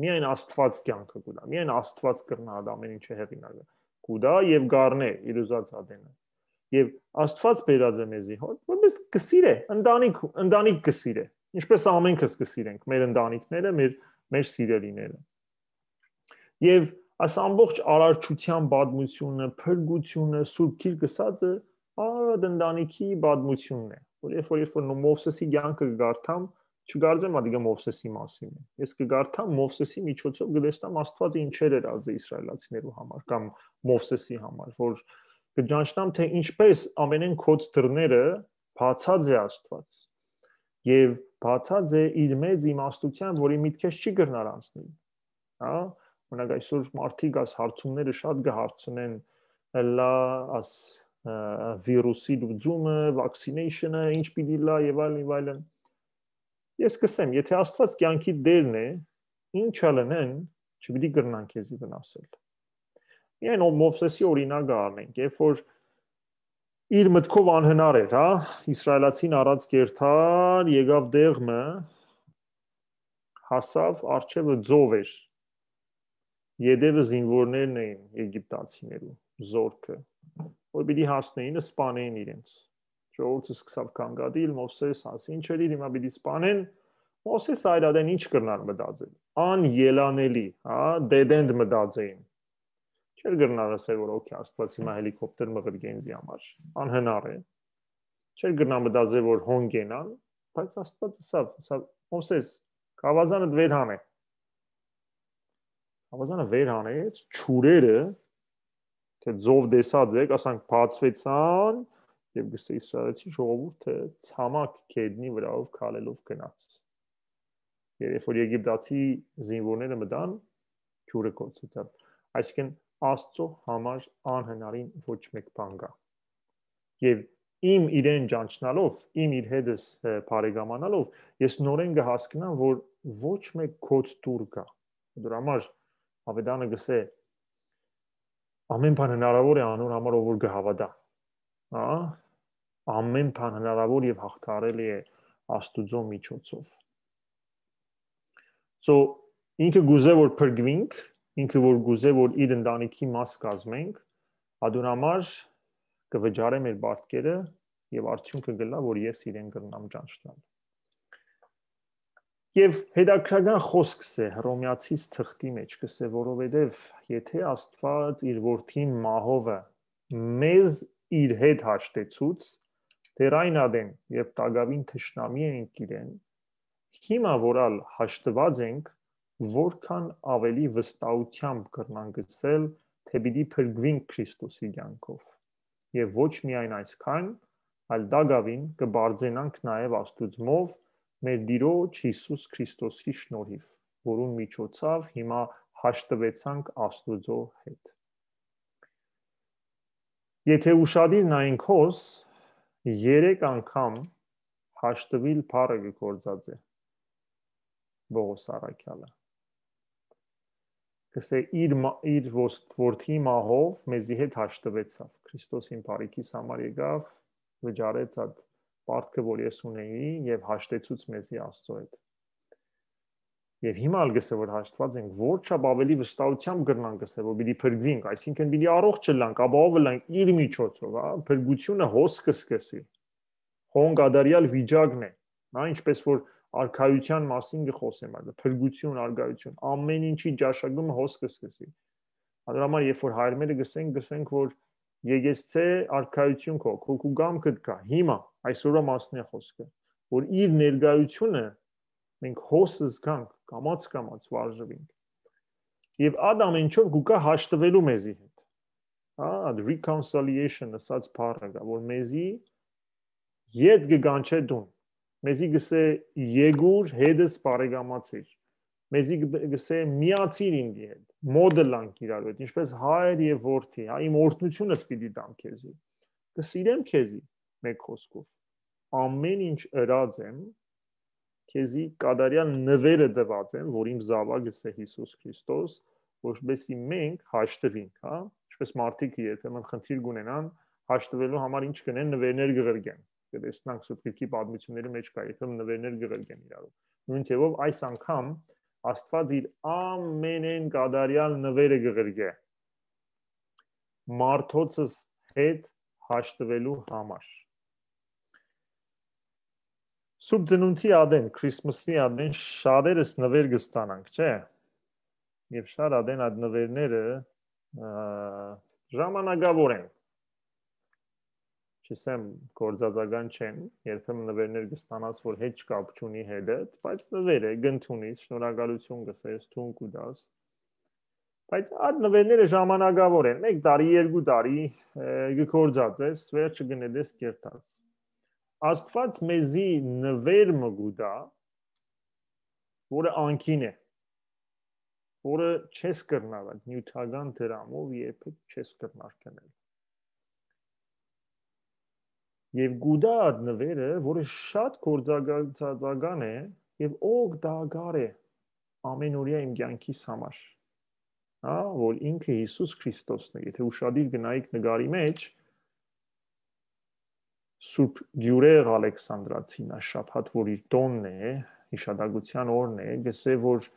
Միայն Աստված կեանքը կու տայ, միայն Աստված կրնայ այդ ամեն ինչը հեղինակը կու տայ եւ կառնէ իր ուզած ատենը։ Եւ Աստված բերած է մեզի հոս, որպես կը սիրէ, ընտանիք, ընտանիք կը սիրէ, ինչպես ամենքս կը սիրենք մեր ընտանիքները, մեր, մեր սիրելիները։ Եւ այս ամբողջ արարչության պատմությունը, փրկությունը, Սուրբ Գիրքը ասածը, այդ ընտանիքի պատմությունն է, որ երբ որ, երբ որ Մովսեսի կեանքը կը կարդամ, չկարծեմ, ատիկա Մովսեսի մասին է։ Ես կը կարդամ, Մովսեսի միջոցով կը տեսնամ Աստվածը ինչեր էր ածը իսրայելացիներու համար կամ Մովսեսի համար, որ կը ճանչնամ, թե ինչպես ամենեն կոց դռները բացած է Աստված։ Եւ բացած է իր մեծ իմաստութեան, որի միտքեշ չի կրնար անցնել։ Հա, օրինակ, այսօր մարդիկ այս հարցումները շատ կը հարցնեն, լա, աս, ը, վիրուսի լուծումը, vaccination-ը, ինչ պիտի լա եւ այլն, եւ այլն։ Ես կսեմ, եթե Աստված կեանքի Տերն է, ինչ ալ ընեն, չպիտի կրնան քեզի վնասել։ Միայն ո-, Մովսեսի օրինակը առնենք, երբ որ իր մտքով անհնար էր, հա, իսրայելացին առած կերթար, եկավ տեղ մը, հասավ, առջևը ծով էր, ետևը զինվորներն էին եգիպտացիներու, զորքը, որ պիտի հասնեին, սպանեին իրենց։ Ժողովուրդը սկսավ կանգատիլ, Մովսես ասի, ինչ էր իր, հիմա պիտի սպանեն, Մովսես այլ ատեն ինչ կրնար մտածել, անելանելի, հա, դեդենդ մտածեին։ Չէր կրնար ասել, որ օքեյ, Աստված հիմա հելիքոպտեր մղրկե ինձի համար, անհնար է։ Չէր կրնար մտածել, որ հոն կենան, բայց Աստված ասավ, ասավ, Մովսես, գավազանդ վեր հանէ։ Գավազանը վեր հանեց, ջուրերը Դե, ծով տեսած եք, ասանք, բացուեցան, եւ կ'ըսէ Իսրայելցի ժողովուրդը ցամաք գետնի վրայով քալելով գնաց։ Եւ երբ որ եգիպտացի զինուորները մտան, ջուրը կորցրեցան։ Այսինքն, Աստծո համար անհնարին ոչ մէկ բան կա։ Եւ իմ իրեն ճանչնալով, իմ իր հետս, ը, բարեկամանալով, ես նորեն կը հասկնամ, որ ոչ մէկ գոց դուռ կա։ Դուր համար Ավետանը կ'ըսէ, ամեն բան հնարավոր է անոր համար, ով որ կը հաւատայ։ Հա? Ամեն բան հնարավոր եւ հաղթարելի է Աստուծո միջոցով։ So, ինքը կ'ուզէ, որ փրկուինք, ինքը որ կ'ուզէ, որ իր ընտանիքի մաս կազմենք, ադուն համար կը վճարէ մեր պարտքերը եւ արդիւնքը կ'ըլլայ, որ ես իրեն կրնամ ճանչնալ։ Եւ հետաքրական խօսք կ'ըսէ Հռոմեացիս թղթի մէջ, կ'ըսէ, որովհետեւ եթե Աստուած իր որդին մահովը մեզ իր հետ հաշտեցուց, դեռ այն ատեն, երբ տակաւին թշնամի էինք իրեն, հիմա որ ալ հաշտուած ենք, որքան ավելի վստահութեամբ կրնանք ըսել, թէ պիտի փրկուինք Քրիստոսի կեանքով։ Եւ ոչ միայն այսքան, այլ տակաւին կը պարծենանք նաեւ Աստուծմով, մեր Տիրոջ Յիսուս Քրիստոսի շնորհիվ, որուն միջոցաւ հիմա հաշտուեցանք Աստուծո հետ։ Եթե ուշադիր նայենք հոս, երեք անգամ հաշտուիլ բառը կը գործածէ Պողոս առաքյալը։ Կ'ըսէ, իր, մա- իր ոս- որդի մահով մեզի հետ հաշտուեցաւ, Քրիստոսին բարիքիս համար եկաւ, վճարեց այդ պարտքը, որ ես ունեի, եւ հաշտեցուց մեզի Աստծո հետ։ Եւ հիմա ալ կ'ըսէ, որ հաշտված ենք, որչափ ավելի վստահութեամբ կրնանք ըսել, որ պիտի փրկուինք, այսինքն պիտի առողջ ըլլանք, ապահով ըլլանք իր միջոցով, հա, փրկությունը հոս կը սկսի։ Հոն կատարյալ վիճակն է, հա, ինչպես որ արքայության մասին կը խօսեմ, այդ փրկություն, արգայություն, ամեն ինչի ճաշակումը հոս կը սկսի։ Ադր համար, երբ որ հայրմերը կ'ըսենք, կ'ըսենք, որ եկեցցէ արքայություն քո, քո կուգամ կտկա, հիմա, այսօրվա մասն է խոսքը, որ իր ներկայությունը մենք հոս զգանք, կամաց-կամաց վարժվենք։ Եւ այդ ամենչով կուկա հաշտվելու մեզի հետ։ Հա, այդ reconciliation ըսած բառը կա, որ մեզի ետ կը կանչէ դուն, մեզի կ'ըսէ, «Եկուր, հետս բարեկամացիր», մեզի կը- կ'ըսէ, «Միացիր ինձի հետ, մոտ ըլլանք իրարու հետ, ինչպես հայր եւ որդի, հա, իմ օրհնությունս պիտի տամ քեզի, կը սիրեմ քեզի», մէկ խօսքով, ամեն ինչ ըրած եմ, քեզի կատարյալ նվերը տուած եմ, որ իմ զաւակս է Յիսուս Քրիստոս, որպեսզի մենք հաշտվինք, հա, ինչպես մարդիկ երբեմն խնդիր կունենան, հաշտվելու համար ինչ կ'ընեն, նվերներ կ'ղրկեն։ Կը տեսնանք Սուրբ Գրքի պատմությունների մէջ կայ, երբեմն նվերներ կ'ղրկեն իրարու։ Նոյն ձեւով այս անգամ Աստուած իր ամենէն կատարյալ նվերը կ'ղրկէ մարդոցս հետ հաշտվելու համար։ Սուրբ Ծնունդի ատեն, Քրիսմասի ատեն շատերս նվեր կը ստանանք, չէ՞։ Եւ շատ ատեն այդ նվերները, ը, ժամանակավոր են։ Չսեմ, գործածական չեն, երբեմն նվերներ կը ստանաս, որ հեչ կապ չունի հետդ, բայց նվեր է, կ'ընդունիս, շնորհակալություն կ'ըսես, թուն կու տաս։ Բայց այդ նվերները ժամանակավոր են, մեկ տարի, երկու տարի, ը, կը գործածես, վերջը կը նետես կերտած։ Աստուած մեզի նվեր մը կու տայ, որը անկին է, որը չես կրնար այդ նիւթական դրամով երբեք չես կրնար գնել։ Եւ կու տայ այդ նվերը, որը շատ գործակցական է եւ օգտակար է ամենօրյա իմ կեանքիս համար, հա, որ ինքը Յիսուս Քրիստոսն է։ Եթե ուշադիր գնայիք նկարի մեջ, Սուրբ Գիուրեղ Ալեքսանդրացին, այս շաբաթ, որ իր տոնն է, հիշատակության օրն է, գսե, որ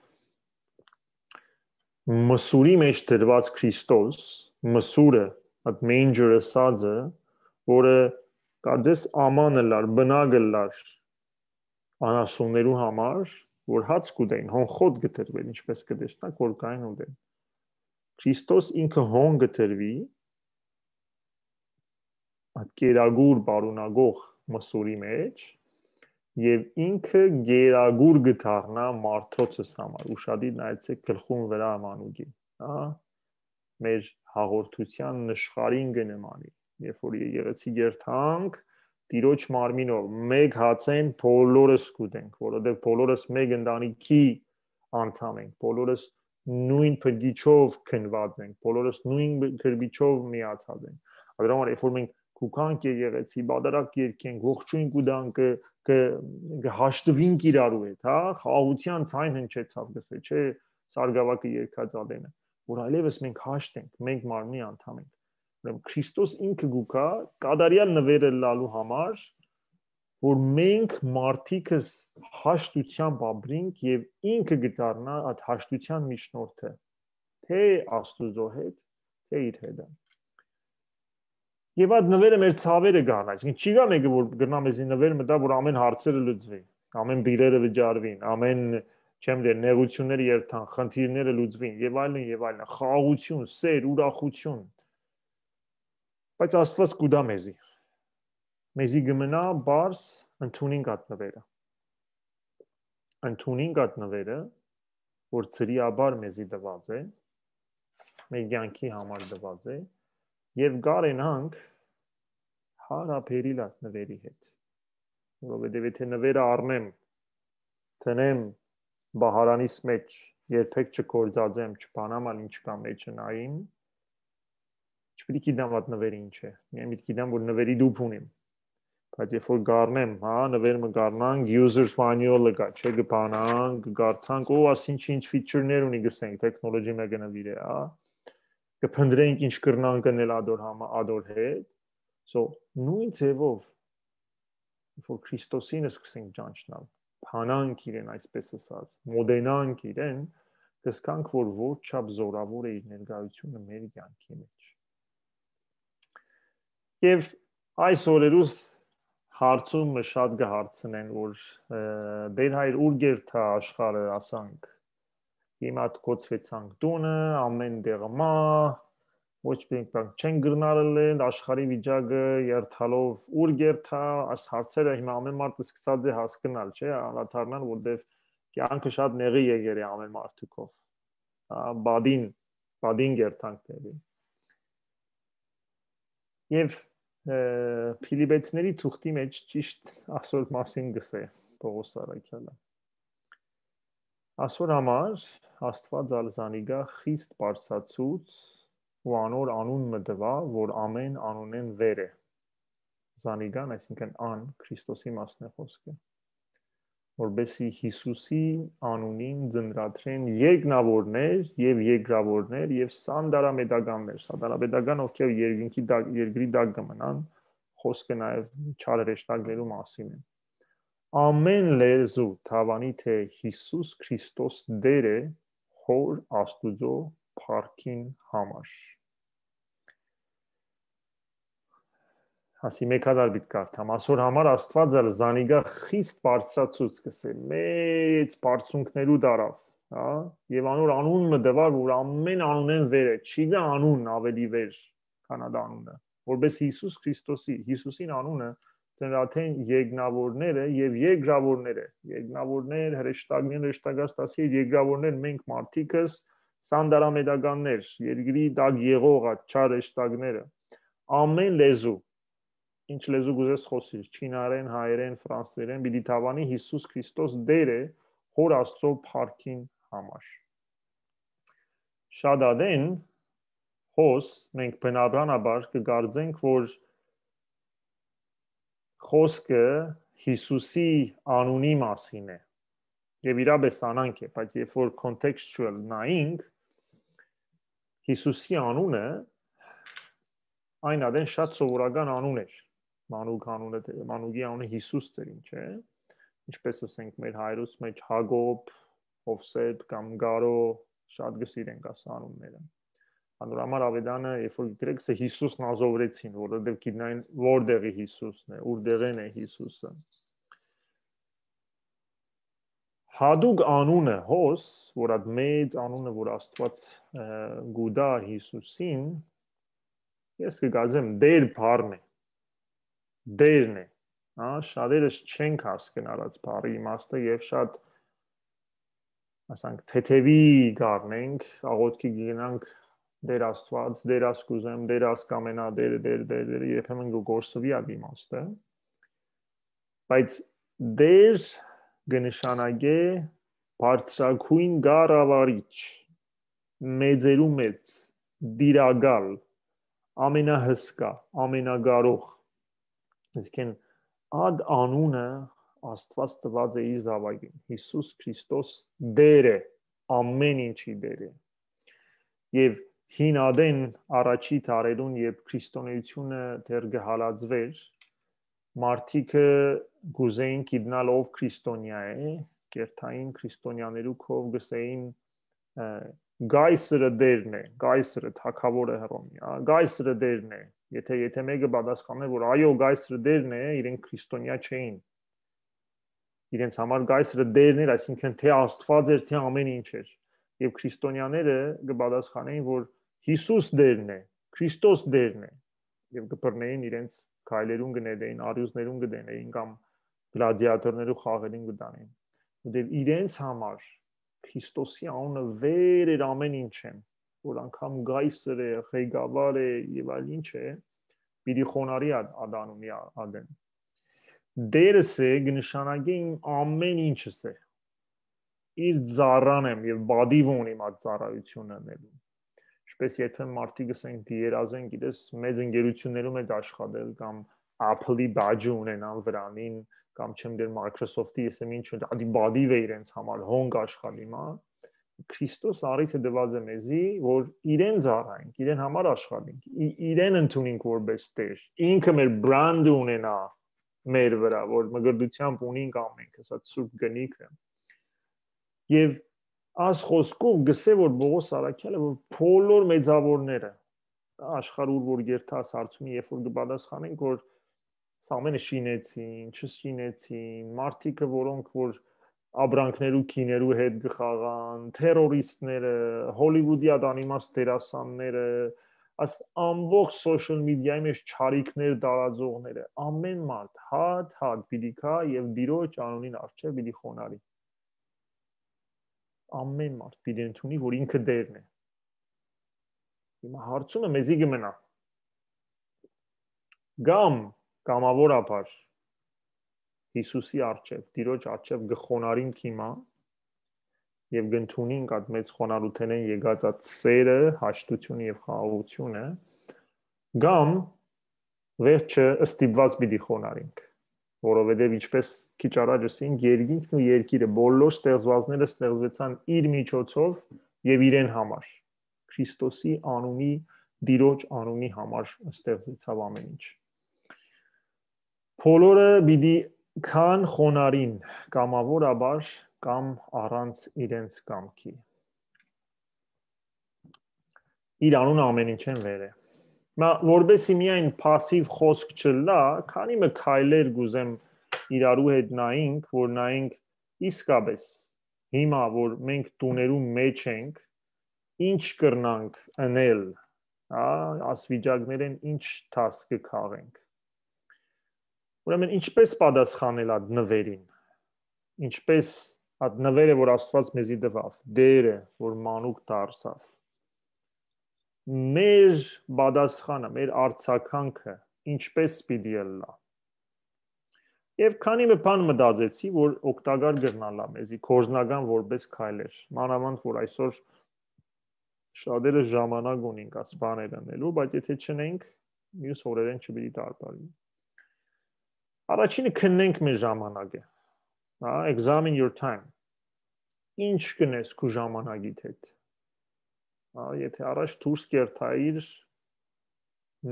մսուրի մեջ դրված Քրիստոս, մսուրը, այդ manger ըսածը, որը կարծես աման ըլլար, բնակ ըլլար անասուններու համար, որ հաց կուտեն, հոնխոտ կը դրվեն, ինչպես կը տեսնաք, որ կային ուտեն։ Քրիստոս ինքը հոն կը դրվի, այդ կերակուր պարունակող մսուրի մեջ, եւ ինքը կերակուր կը դառնայ մարդոցս համար։ Ուշադիր նայեցեք գլխուն վրայ մանուկի, հա, մեր հաղորդութեան նշխարին կը նմանի։ Երբ որ եկեղեցի կերտանք, Տիրոջ մարմինով մէկ հացէն բոլորս կ'ուտենք, որովհետեւ բոլորս մէկ ընտանիքի անդամ ենք, բոլորս նոյն բնկիչով քննուած ենք, բոլորս նոյն քրբիչով միացած ենք։ Ադր համար, երբ որ մենք կուքանք եկեղեցի, բادرک երգենք, ողջոյն կու տանք, կը, կը, կը հաշտուինք իրարու հետ, հա, խաղաղութեան ձայն հնչեցաւ, կ'ըսէ, չէ, Սարգսակը երգած ատենը, որ այլեւս մենք հաշտ ենք, մենք մարմնի անդամ ենք։ Ուրեմն Քրիստոս ինքը կու գայ կատարեալ նուէր ըլլալու համար, որ մենք մարդիկս հաշտութեամբ ապրինք եւ ինքը կը դառնայ այդ հաշտութեան միջնորդը, թէ Աստուծոյ հետ, թէ իր հետը։ Եւ այդ նուէրը մեր ցաւերը կ'առնայ։ Այսինքն չի գա մէկը, որ կրնայ մեզի նուէր մտայ, որ ամէն հարցերը լուծուին, ամէն բիլերը վճարուին, ամէն, չեմ դեր, նեղութիւնները երթան, խնդիրները լուծուին եւ այլն եւ այլն։ Խաղաղութիւն, սէր, ուրախութիւն։ Բայց Աստուած կու տայ մեզի։ Մեզի կը մնայ պարզ ընդունինք այդ նուէրը։ Ընդունինք այդ նուէրը, որ ծրիաբար մեզի տուած է, մեր կեանքի համար տուած է, եւ կարենանք հարաբերիլ այդ նուէրի հետ։ Որովհետեւ եթէ նուէրը առնեմ, դնեմ պահարանիս մէջ, երբեք չգործածեմ, չբանամ ալ ինչ կա մեջը նայիմ, չպիտի գիտեմ այդ նուէրը ինչ է, միայն պիտի գիտեմ, որ նուէրի տուփ ունիմ։ Բայց երբ որ կառնեմ, հա, նուէր մը կառնանք, user's manual-ը կայ, չէ, կը բանանք, կը կարդանք, ո, ասինչ ինչ feature-ներ ունի, կ'ըսենք, technology մը կը նուիրէ, հա, կը փնտրենք ինչ կրնանք ընել ադոր համա-, ադոր հետ։ So, նոյն ձեւով, երբ որ Քրիստոսին սկսենք ճանչնալ, բանանք իրեն, այսպես ասած, մոտենանք իրեն, կ'զգանք, որ որչափ զորաւոր է իր ներկայութիւնը մեր կեանքի մէջ։ Եւ այս օրերուս հարցումը շատ կը հարցնեն, որ, ը, Տէր հայր, ո՞ւր կ'երթայ աշխարհը, ասանք, հիմա դ-, գոցուեցանք տունը, ամէն տեղը մա, ոչ մի բան չեն կրնար ըլել, աշխարհի վիճակը երթալով ո՞ւր կ'երթայ, այս հարցերը հիմա ամէն մարդ սկսած է հասկնալ, չէ, անդրադառնալ, որտեւ կեանքը շատ նեղի եկեր է ամէն մարդուկով։ Ա, բադին, բադին կ'երթանք նեղի։ Եւ, ը, Փիլիպեցիների թուղթի մէջ ճիշտ այսօր մասին կ'ըսէ Պողոս առաքյալը։ Այսօր համար Աստուած ալ զանիկա խիստ բարձրացուց ու անոր անուն մը տուայ, որ ամէն անունէն վեր է։ Զանիկան, այսինքն ան, Քրիստոսի մասն է խօսքը, որպեսզի Յիսուսի անունին ծնրադրեն երկնաւորներ եւ երկրաւորներ եւ սանտարամետականներ, սանտարամետական, ովքեր երկնքի տակ, երկրի տակ կը մնան, խօսքը նաեւ չար հրեշտակներու մասին է։ Ամէն լեզու թաւանի, թէ Յիսուս Քրիստոս Տէր է Հօր Աստուծոյ փառքին համար։ Ասի, մէկ հատար պիտի կարդամ։ Այսօր համար Աստուած ալ զանիկա խիստ բարձրացուց, կ'ըսէ, մեծ բարձունքներու տարաւ, հա, եւ անոր անուն մը տուայ, որ ամէն անունէն վեր է, չի գա անուն աւելի վեր, քան այդ անունը, որպեսզի Յիսուս Քրիստոսի, Յիսուսին անունը ծնրդեն երկնաւորները եւ երկրաւորները, երկնաւորներ, հրեշտակներ, հրեշտակած դասի երկրաւորներ, մենք մարդիկս, սանտարամետականներ, երկրի տակ եղող այդ չար հրեշտակները, ամէն լեզու, ինչ լեզու կ'ուզես խօսիր, չինարէն, հայերէն, ֆրանսերէն, պիտի թաւանի Յիսուս Քրիստոս Տէր է Հօր Աստծոյ փառքին համար։ Շատ ատեն հոս մենք բնականաբար կը կարծենք, որ խօսքը Յիսուսի անունի մասին է։ Եւ իրապէս անանք է, բայց երբ որ contextual նայինք, Յիսուսի անունը այն ատեն շատ սովորական անուն էր։ Մանուկ անունը, Մանուկի անունը Յիսուս էր, ինչ է։ Ինչպես ասենք մեր հայրուց մեջ Հակոբ, Հովսեփ կամ Գարո, շատ կը սիրենք աս անունները։ Անոր համար Ավետանը, երբ որ գրեքսը Յիսուս նազովրեցին, որովհետեւ գիտնային որտեղի Յիսուսն է, ուր դեղեն է Յիսուսը։ Հատուկ անունը հոս, որ այդ մեծ անունը, որ Աստուած, ը, գուտա Յիսուսին, ես կը կարծեմ, Տեր բառն է, Տերն է, հա, շատերս չենք հասկնար այդ բառի իմաստը եւ շատ, ասենք, թեթեւի գարնենք, աղոթքի գնանք Տեր Աստուած, Տեր, աս կ'ուզեմ, Տեր, աս կ'ամենայ, Տեր, Տեր, Տեր, Տեր, երբեմն կը կորսուի այդ իմաստը, բայց Տեր կը նշանակէ բարձրագոյն կառավարիչ, մեծերու մեծ, տիրակալ, ամենահսկայ, ամենակարող։ Այսինքն, այդ անունը Աստուած տուած է իր զաւակին։ Յիսուս Քրիստոս Տեր է, ամեն ինչի Տեր է։ Եւ հին ադեն առաջի դարերուն, երբ քրիստոնեությունը դեռ կը հալածուէր, մարդիկը կ'ուզէին գիտնալ ով քրիստոնեայ է, կերթային քրիստոնեաներու քով կ'ըսէին, ը, «Կայսրը Տերն է, Կայսրը թագաւորը Հռոմի, ա, Կայսրը Տերն է»։ Եթե, եթե մէկը պատասխանէ, որ «Այո, Կայսրը Տերն է», իրենք քրիստոնեայ չէին։ Իրենց համար Կայսրը Տերն էր, այսինքն, թէ Աստուած էր, թէ ամեն ինչ էր։ Եւ քրիստոնեաները կը պատասխանեին, որ Յիսուս Տերն է, Քրիստոս Տերն է, եւ կը բռնէին իրենց քայլերուն, կը նետէին, արիւզներուն կը դնէին կամ գլադիատորներու խաղերին կը տանէին։ Որտեւ իրենց համար Քրիստոսի անունը վեր էր ամեն ինչէն, որ անգամ կայսր է, ղեկավար է եւ այլ ինչ է, պիտի խոնարհի ա-, ադանունի ա-, ադեն։ Տերս է, կը նշանակէ իմ ամեն ինչս է։ Իր ծառան եմ եւ պատիվ ունիմ այդ ծառայությունը անելու։ Ինչպես երբեմն մարդիկ կ'ըսեն, կը երազեն, գիտես, մեծ ընկերություններու մէջ աշխատել կամ Apple-ի badge-ը ունենան վրանին, կամ չեմ դեր Microsoft-ի, ես եմ ինչ, ադի պատիվ է իրենց համար, հոնք աշխատի մա։ Քրիստոս առիթը տուած է մեզի, որ իրեն ծառայենք, իրեն համար աշխատենք, ի-, իրեն ընդունենք որպես Տեր։ Ինքը մեր brand-ը ունենայ մեր վրայ, որ մկրտությամբ ունենք ամենքը, սա սուրբ կնիքը։ Եւ այս խոսքով գսէ, որ Պողոս առաքեալը, որ բոլոր մեծաւորները, աշխարհ ուր որ երթաս հարցումի, երբ որ կը պատասխանենք, որ սա ամենը շինեցին, չշինեցին, մարդիկը, որոնք որ աբրանքներու քիներու հետ կը խաղան, թերորիստները, Հոլիվուդի ադանիմաց դերասանները, աս ամբողջ social media-ի մեջ չարիքներ տարածողները, ամեն մարդ հատ-հատ պիտի գայ եւ Տիրոջ անունին առջեւ պիտի խոնարհի։ Ամեն մարդ պիտի ընդունի, որ ինքը Տերն է։ Հիմա հարցումը մեզի կը մնայ։ Կամ կամաւորաբար Յիսուսի առջեւ, Տիրոջ առջեւ կը խոնարհինք հիմա եւ կ'ընդունինք այդ մեծ խոնարհութենէն եկած այդ սերը, հաշտությունը եւ խաղաղությունը, կամ վերջը ստիպված պիտի խոնարհինք, որովհետեւ, ինչպես քիչ առաջ ըսինք, երկինքն ու երկիրը, բոլոր ստեղծուածները ստեղծուեցան իր միջոցով եւ իրեն համար։ Քրիստոսի անունի, Տիրոջ անունի համար ստեղծուեցաւ ամեն ինչ։ Բոլորը պիտի գան խոնարհին, կամաւորաբար կամ առանց իրենց կամքի։ Իր անունը ամեն ինչէն վեր է։ Մա, որպեսզի միայն փասիվ խոսք չըլլայ, քանի մը քայլեր կ'ուզեմ իրարու հետ նայենք, որ նայենք իսկապես հիմա, որ մենք տուներու մեջ ենք, ինչ կրնանք ընել, հա, ասվիճակներէն ինչ դաս կը քաղենք։ Ուրեմն, ինչպես պատասխանել այդ նվերին, ինչպես այդ նվերը, որ Աստուած մեզի տուաւ, Տերը, որ մանուկ դարձաւ, մեր պատասխանը, մեր արձագանքը ինչպես պիտի ըլլայ։ Եւ քանի մը բան մտածեցի, որ օգտակար կրնալա մեզի, կորզնական որպես քայլեր, մանավանդ որ այսօր շատերը ժամանակ ունին այս բաները անելու, բայց եթե չնենք, մյուս օրերէն չպիտի տարբարի։ Առաջինը, քննենք մեր ժամանակը, հա, examine your time։ Ինչ կնես քու ժամանակիդ հետ, հա, եթե առաջ դուրս կերթայիր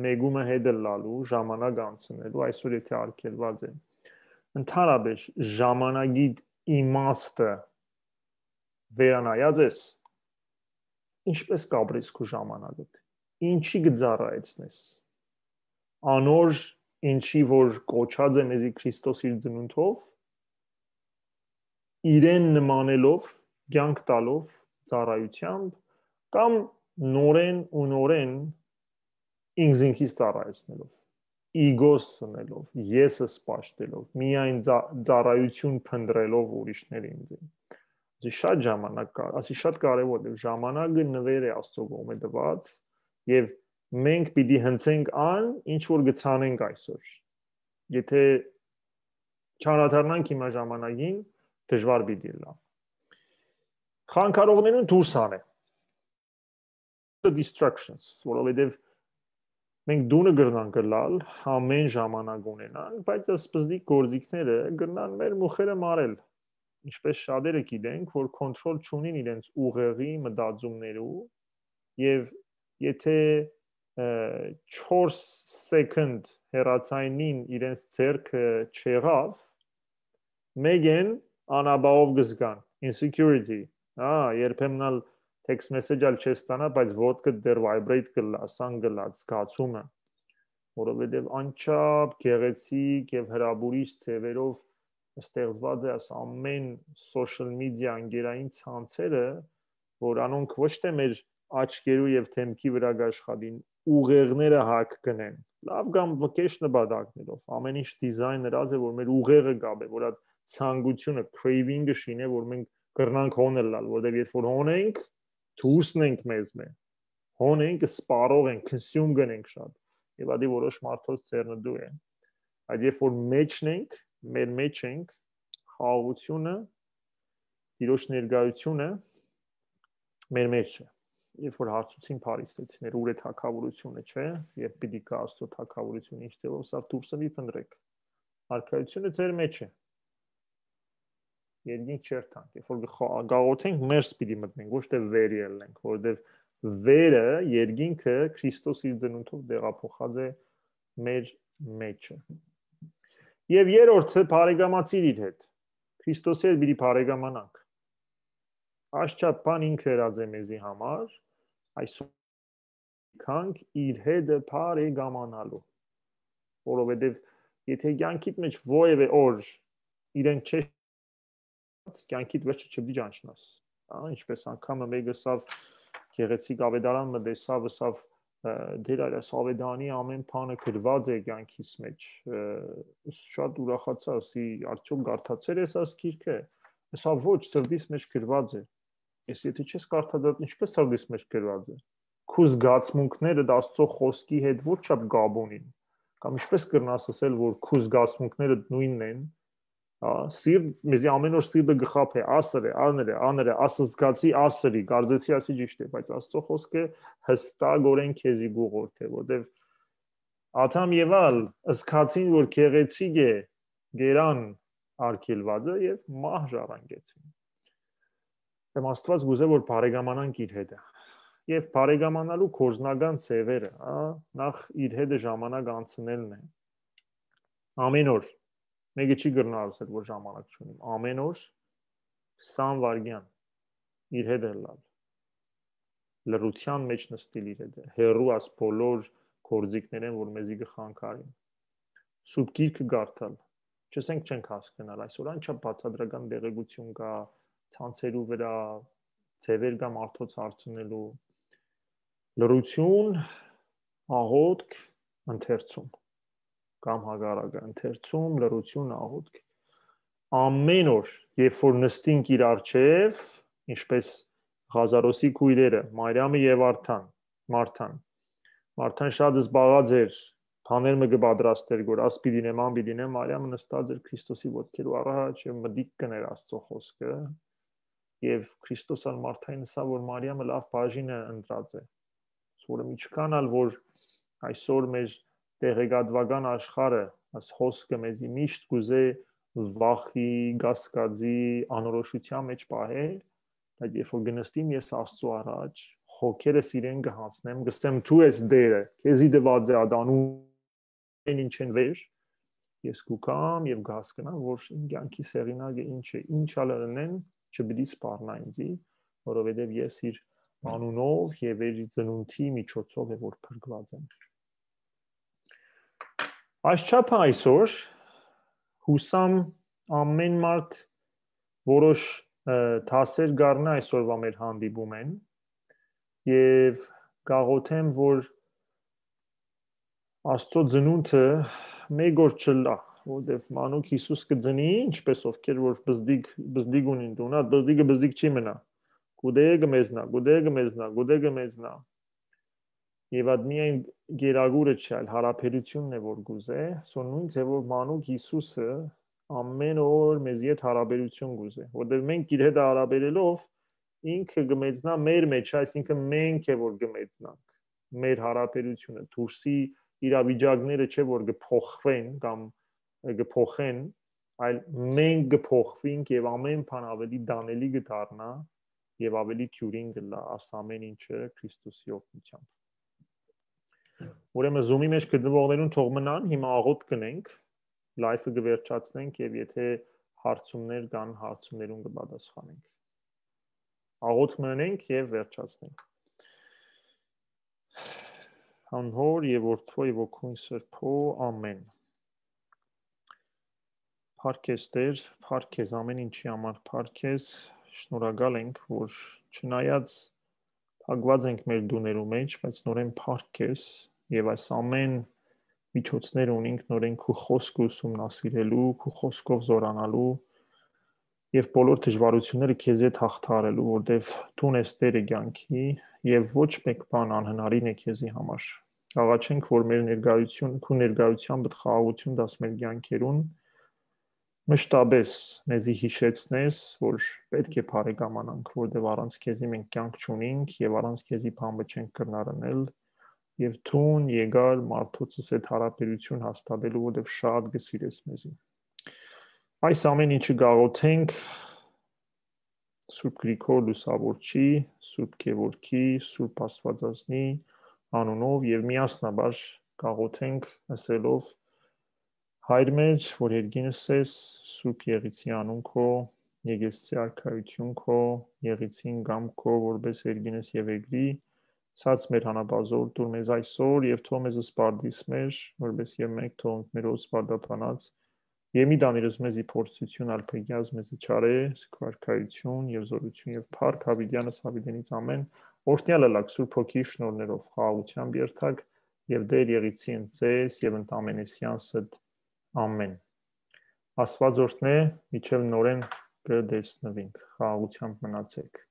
մեկումը հետ ըլլալու, ժամանակ անցնելու, այսօր եթե արգելված է, ընդհանրապես ժամանակիդ իմաստը վերանայած ես, ինչպես կապրես քու ժամանակդ, ինչի կը ծառայեցնես, անոր, ինչի որ կոչած է մեզի Քրիստոս իր ծնունդով, իրեն նմանելով, կյանք տալով, ծառայությամբ, կամ նորեն ու նորեն ինքզինքից ծառայեցնելով, իգոս սնելով, եսս պաշտելով, միայն ծա-, ծառայություն փնտրելով ուրիշներ ինձին։ շատ ժամանակ կա, ասի շատ կարեւոր է, ժամանակը նուէր է Աստծո կողմէ տուած, եւ մենք պիտի հնձենք ան, ինչ որ կցանենք այսօր։ Եթե չանադառնանք հիմա ժամանակին, դժվար պիտի ըլլայ։ Խանգարողներուն դուրս անե։ The distractions, որովհետեւ մենք տունը կրնանք ըլլալ, ամեն ժամանակ ունենանք, բայց սպզնիկ գործիքները կրնան մեր մուխերը մարել, ինչպես շատերը գիտենք, որ կոնտրոլ չունին իրենց ուղեղի մտածումներու, եւ եթե, ը, չորս սեկունդ հեռացայնին իրենց ձեռքը չեղավ, մեկեն անապահով կը զգան, insecurity, հա, երբեմն ալ text message ալ չես ստանա, բայց ոտքդ դեռ vibrate կ'ըլլայ, սան կ'ըլլայ, զգացումը, որովհետեւ անչափ գեղեցիկ եւ հրապուրիչ ձեւերով ստեղծված է այս ամեն social media ընկերային ցանցերը, որ անոնք ոչ թե մեր աչքերու եւ դեմքի վրայ կաշխատին, ուղեղները հակ կնեն, լաւ կամ վկեշ նպատակներով, ամեն ինչ դիզայն ըրած է, որ մեր ուղեղը կապ է, որ այդ ցանկությունը, craving-ը շինե, որ մենք կրնանք հոն ըլլալ, որտեւ երբ որ հոն ենք, դուրսն ենք մեզմէ, հոն ենք, սպառող ենք, consume կնենք շատ, եւ ադի որոշ մարդոց ձեռնտու է, այդ երբ որ մեջն ենք, մեր մեջ ենք, խաղաղությունը, Տիրոջ ներկայությունը մեր մեջ է։ Երբ որ հարցուցին փարիսեցիները, ուր է թագավորությունը, չէ, երբ պիտի գա Աստծո թագավորությունը, ինչ ձևով, սա դուրսը մի փնտրեք։ Արքայությունը ձեր մեջ է։ Երկինք չերթանք, երբ որ գ-, գաղութենք, ներս պիտի մտնենք, ոչ թե վեր ելնենք, որովհետև վերը, երկինքը Քրիստոս իր ծնունդով տեղափոխած է մեր մեջը։ Եվ երրորդը, բարեկամացիր իր հետ։ Քրիստոսի հետ պիտի բարեկամանանք։ Այս չափ բան ինքը ըրած է մեզի համար, այսօր գանք իր հետը բարեկամանալու, որովհետև եթե կյանքիդ մեջ ովևէ օր իրեն չես, կյանքիդ վերջը չպիտի ճանչնաս։ Հա, ինչպես անգամը մեկը սավ գեղեցիկ ավետարան մը տեսավ, սավ, ը, Տեր Արիաս, ավետարանի ամեն բանը գրված է կյանքիս մեջ։ Ը, շատ ուրախացա, ասի, արդյոք կարդացել ես այս գիրքը։ Սա ոչ, սրտիս մեջ գրված է։ Ես եթե չես կարդացած, ինչպես սրտիս մեջ գրված է։ Քու զգացմունքներդ Աստծո խոսքի հետ որ չափ կապ ունին։ Կամ ինչպես կրնաս ասել, որ քու զգացմունքներդ նույնն են, հա, սիրտ, մեզի ամեն օր սիրտը գխափ է, ասր է, աներ է, աներ է, ասզգացի, ասրի, կարծեցի, ասի ճիշտ է, բայց Աստծո խոսքը հստակորեն քեզի գուղորդ է, որտեվ Ադամ Եվալ զգացին, որ գեղեցիկ է գերան արգելվածը, և մահ ժառանգեցին։ Եմ Աստված գուզե, որ բարեկամանանք իր հետը։ Եվ բարեկամանալու կորզնական ձևերը, հա, նախ իր հետը ժամանակ անցնելն է։ Ամեն օր, մեկը չի կրնա ասել, որ ժամանակ չունիմ, ամեն օր քսան վայրկյան իր հետ ըլլալ, լռության մեջ նստիլ իր հետ, հեռու աս բոլոր գործիքներեն, որ մեզի կը խանգարին։ Սուրբ Գիրքը կարդալ, չսենք չենք հասկնալ այսօր, անչափ բացատրական տեղեկություն կա, ցանցերու վրա, ձևեր կա մարդոց հարցնելու, լռություն, աղոթք, ընթերցում, կամ հակառակը, ընթերցում, լռություն, աղոթք։ Ամեն օր, երբ որ նստինք իր առջև, ինչպես Ղազարոսի քույրերը, Մարիամը և Արթան, Մարթան, Մարթան շատ զբաղած էր, բաներ մը կը պատրաստեր, որ աս պիտի նեմ, ան պիտի նեմ, Մարիամը նստած էր Քրիստոսի ոտքերու առաջ և մտիկ կներ Աստծո խոսքը, և Քրիստոս ալ Մարթային ըսաւ, որ Մարիամը լավ բաժինը ընտրած է։ Սորը միջքան ալ, որ այսօր մեր տեղեկատվական աշխարհը, այս հոսքը մեզի միշտ կուզե վախի, կասկածի, անորոշության մեջ պահե, բայց երբ որ կնստիմ ես Աստծո առաջ, հոգերս իրեն կհանձնեմ, կսեմ, դու ես Տերը, քեզի տված է ադանու, ինչ են վեր, ես կուքամ և կհասկնամ, որ իմ կյանքի հեղինակը ինչ է, ինչ ալ ընեն, չպիտի սպառնա ինձի, որովհետև ես իր անունով և իր ծնունդի միջոցով է, որ փրկված եմ։ Այս չափը այսօր հուսամ ամեն մարդ որոշ, ը, դասեր կառնա այսօրվա մեր հանդիպում են, և կաղոթեմ, որ Աստծո ծնունդը մեկ օր չլա, որտեւ մանուկ Յիսուս կը ծնի, ինչպէս ովքեր որ բզդիկ, բզդիկ ունին տունը, բզդիկը բզդիկ չի մնայ։ Գուտե կը մեծնայ, գուտե կը մեծնայ, գուտե կը մեծնայ։ Եւ այդ միայն գերագուրը չէ, այլ յարաբերութիւնն է որ կուզէ։ So նոյն ձեւով մանուկ Յիսուսը ամէն օր մեզի հետ յարաբերութիւն կուզէ, որտեւ մենք իր հետ յարաբերելով ինքը կը մեծնայ մեր մեջ, այսինքն մենք է որ կը մեծնանք, մեր յարաբերութիւնը, դուրսի իրավիճակները չէ որ կը փոխուին կամ կը փոխեն, այլ մենք կը փոխուինք եւ ամէն բան աւելի տանելի կը դառնայ եւ աւելի դիւրին կ'ըլլայ, աս ամէն ինչը Քրիստոսի օգնութեամբ։ Ուրեմն Zoom-ի մեջ գտնուողներուն թող մնան, հիմա աղօթք կ'ընենք, live-ը կը վերջացնենք եւ եթէ հարցումներ կան, հարցումներուն կը պատասխանենք։ Աղօթք մը ընենք եւ վերջացնենք։ Անհոր եւ Որդւոյ եւ Ոգուն Սրբոյ, ամէն։ Փառք ես Տեր, փառք ես ամէն ինչի համար, փառք ես, շնորհակալ ենք, որ չնայած փակուած ենք մեր տուներու մեջ, բայց նորէն փառք ես եւ այս ամէն միջոցները ունենք նորէն քու խօսքը ուսումնասիրելու, քու խօսքով զօրանալու եւ բոլոր դժվարութիւնները քեզի հետ հաղթահարելու, որտեւ դուն ես Տերը կեանքի եւ ոչ մէկ բան անհնարին է քեզի համար։ Աղաչենք, որ մեր ներկայություն, քու ներկայութեան պդ խաղաղութիւն տաս մեր կեանքերուն, մշտապէս մեզի յիշեցնես, որ պէտք է բարեկամանանք, որտեւ առանց քեզի մենք կեանք չունինք եւ առանց քեզի բան մը չենք կրնար ընել, եւ դուն եկար մարդոցս հետ յարաբերութիւն հաստատելու, որտեւ շատ կը սիրես մեզի։ Այս ամէն ինչը կաղոթենք Սուրբ Գրիգոր Լուսավորչի, Սուրբ Գևորգի, Սուրբ Աստվածածնի անունով եւ միասնաբար կաղոթենք ըսելով. Հայր մեր, որ երկինս ես, Սուրբ Եղիցի անուն քո, Եկեղեցի արքայություն քո, Եղիցին կամ քո որպես երկինս եւ երկրի, սած մեր հանապազոր դուր մեզ այսօր եւ թող մեզ սպարտիս մեր, որպես եւ մենք թող մեր սպարտաբանած, եւ մի տանիրս մեզի փորձություն, այլ փրկի մեզի չարէ, քո արքայություն եւ զորություն եւ փառք հավիտյանս հավիտենից ամէն, օրհնեալ ըլաք Սուրբ Հոգի շնորներով, խաղաղութեամբ երթաք եւ Տեր Եղիցին ձեզ եւ ընդամենեսյանսդ ամէն։ Աստուած օրհնէ, մինչեւ նորէն կը տեսնուինք, խաղաղութեամբ մնացեք։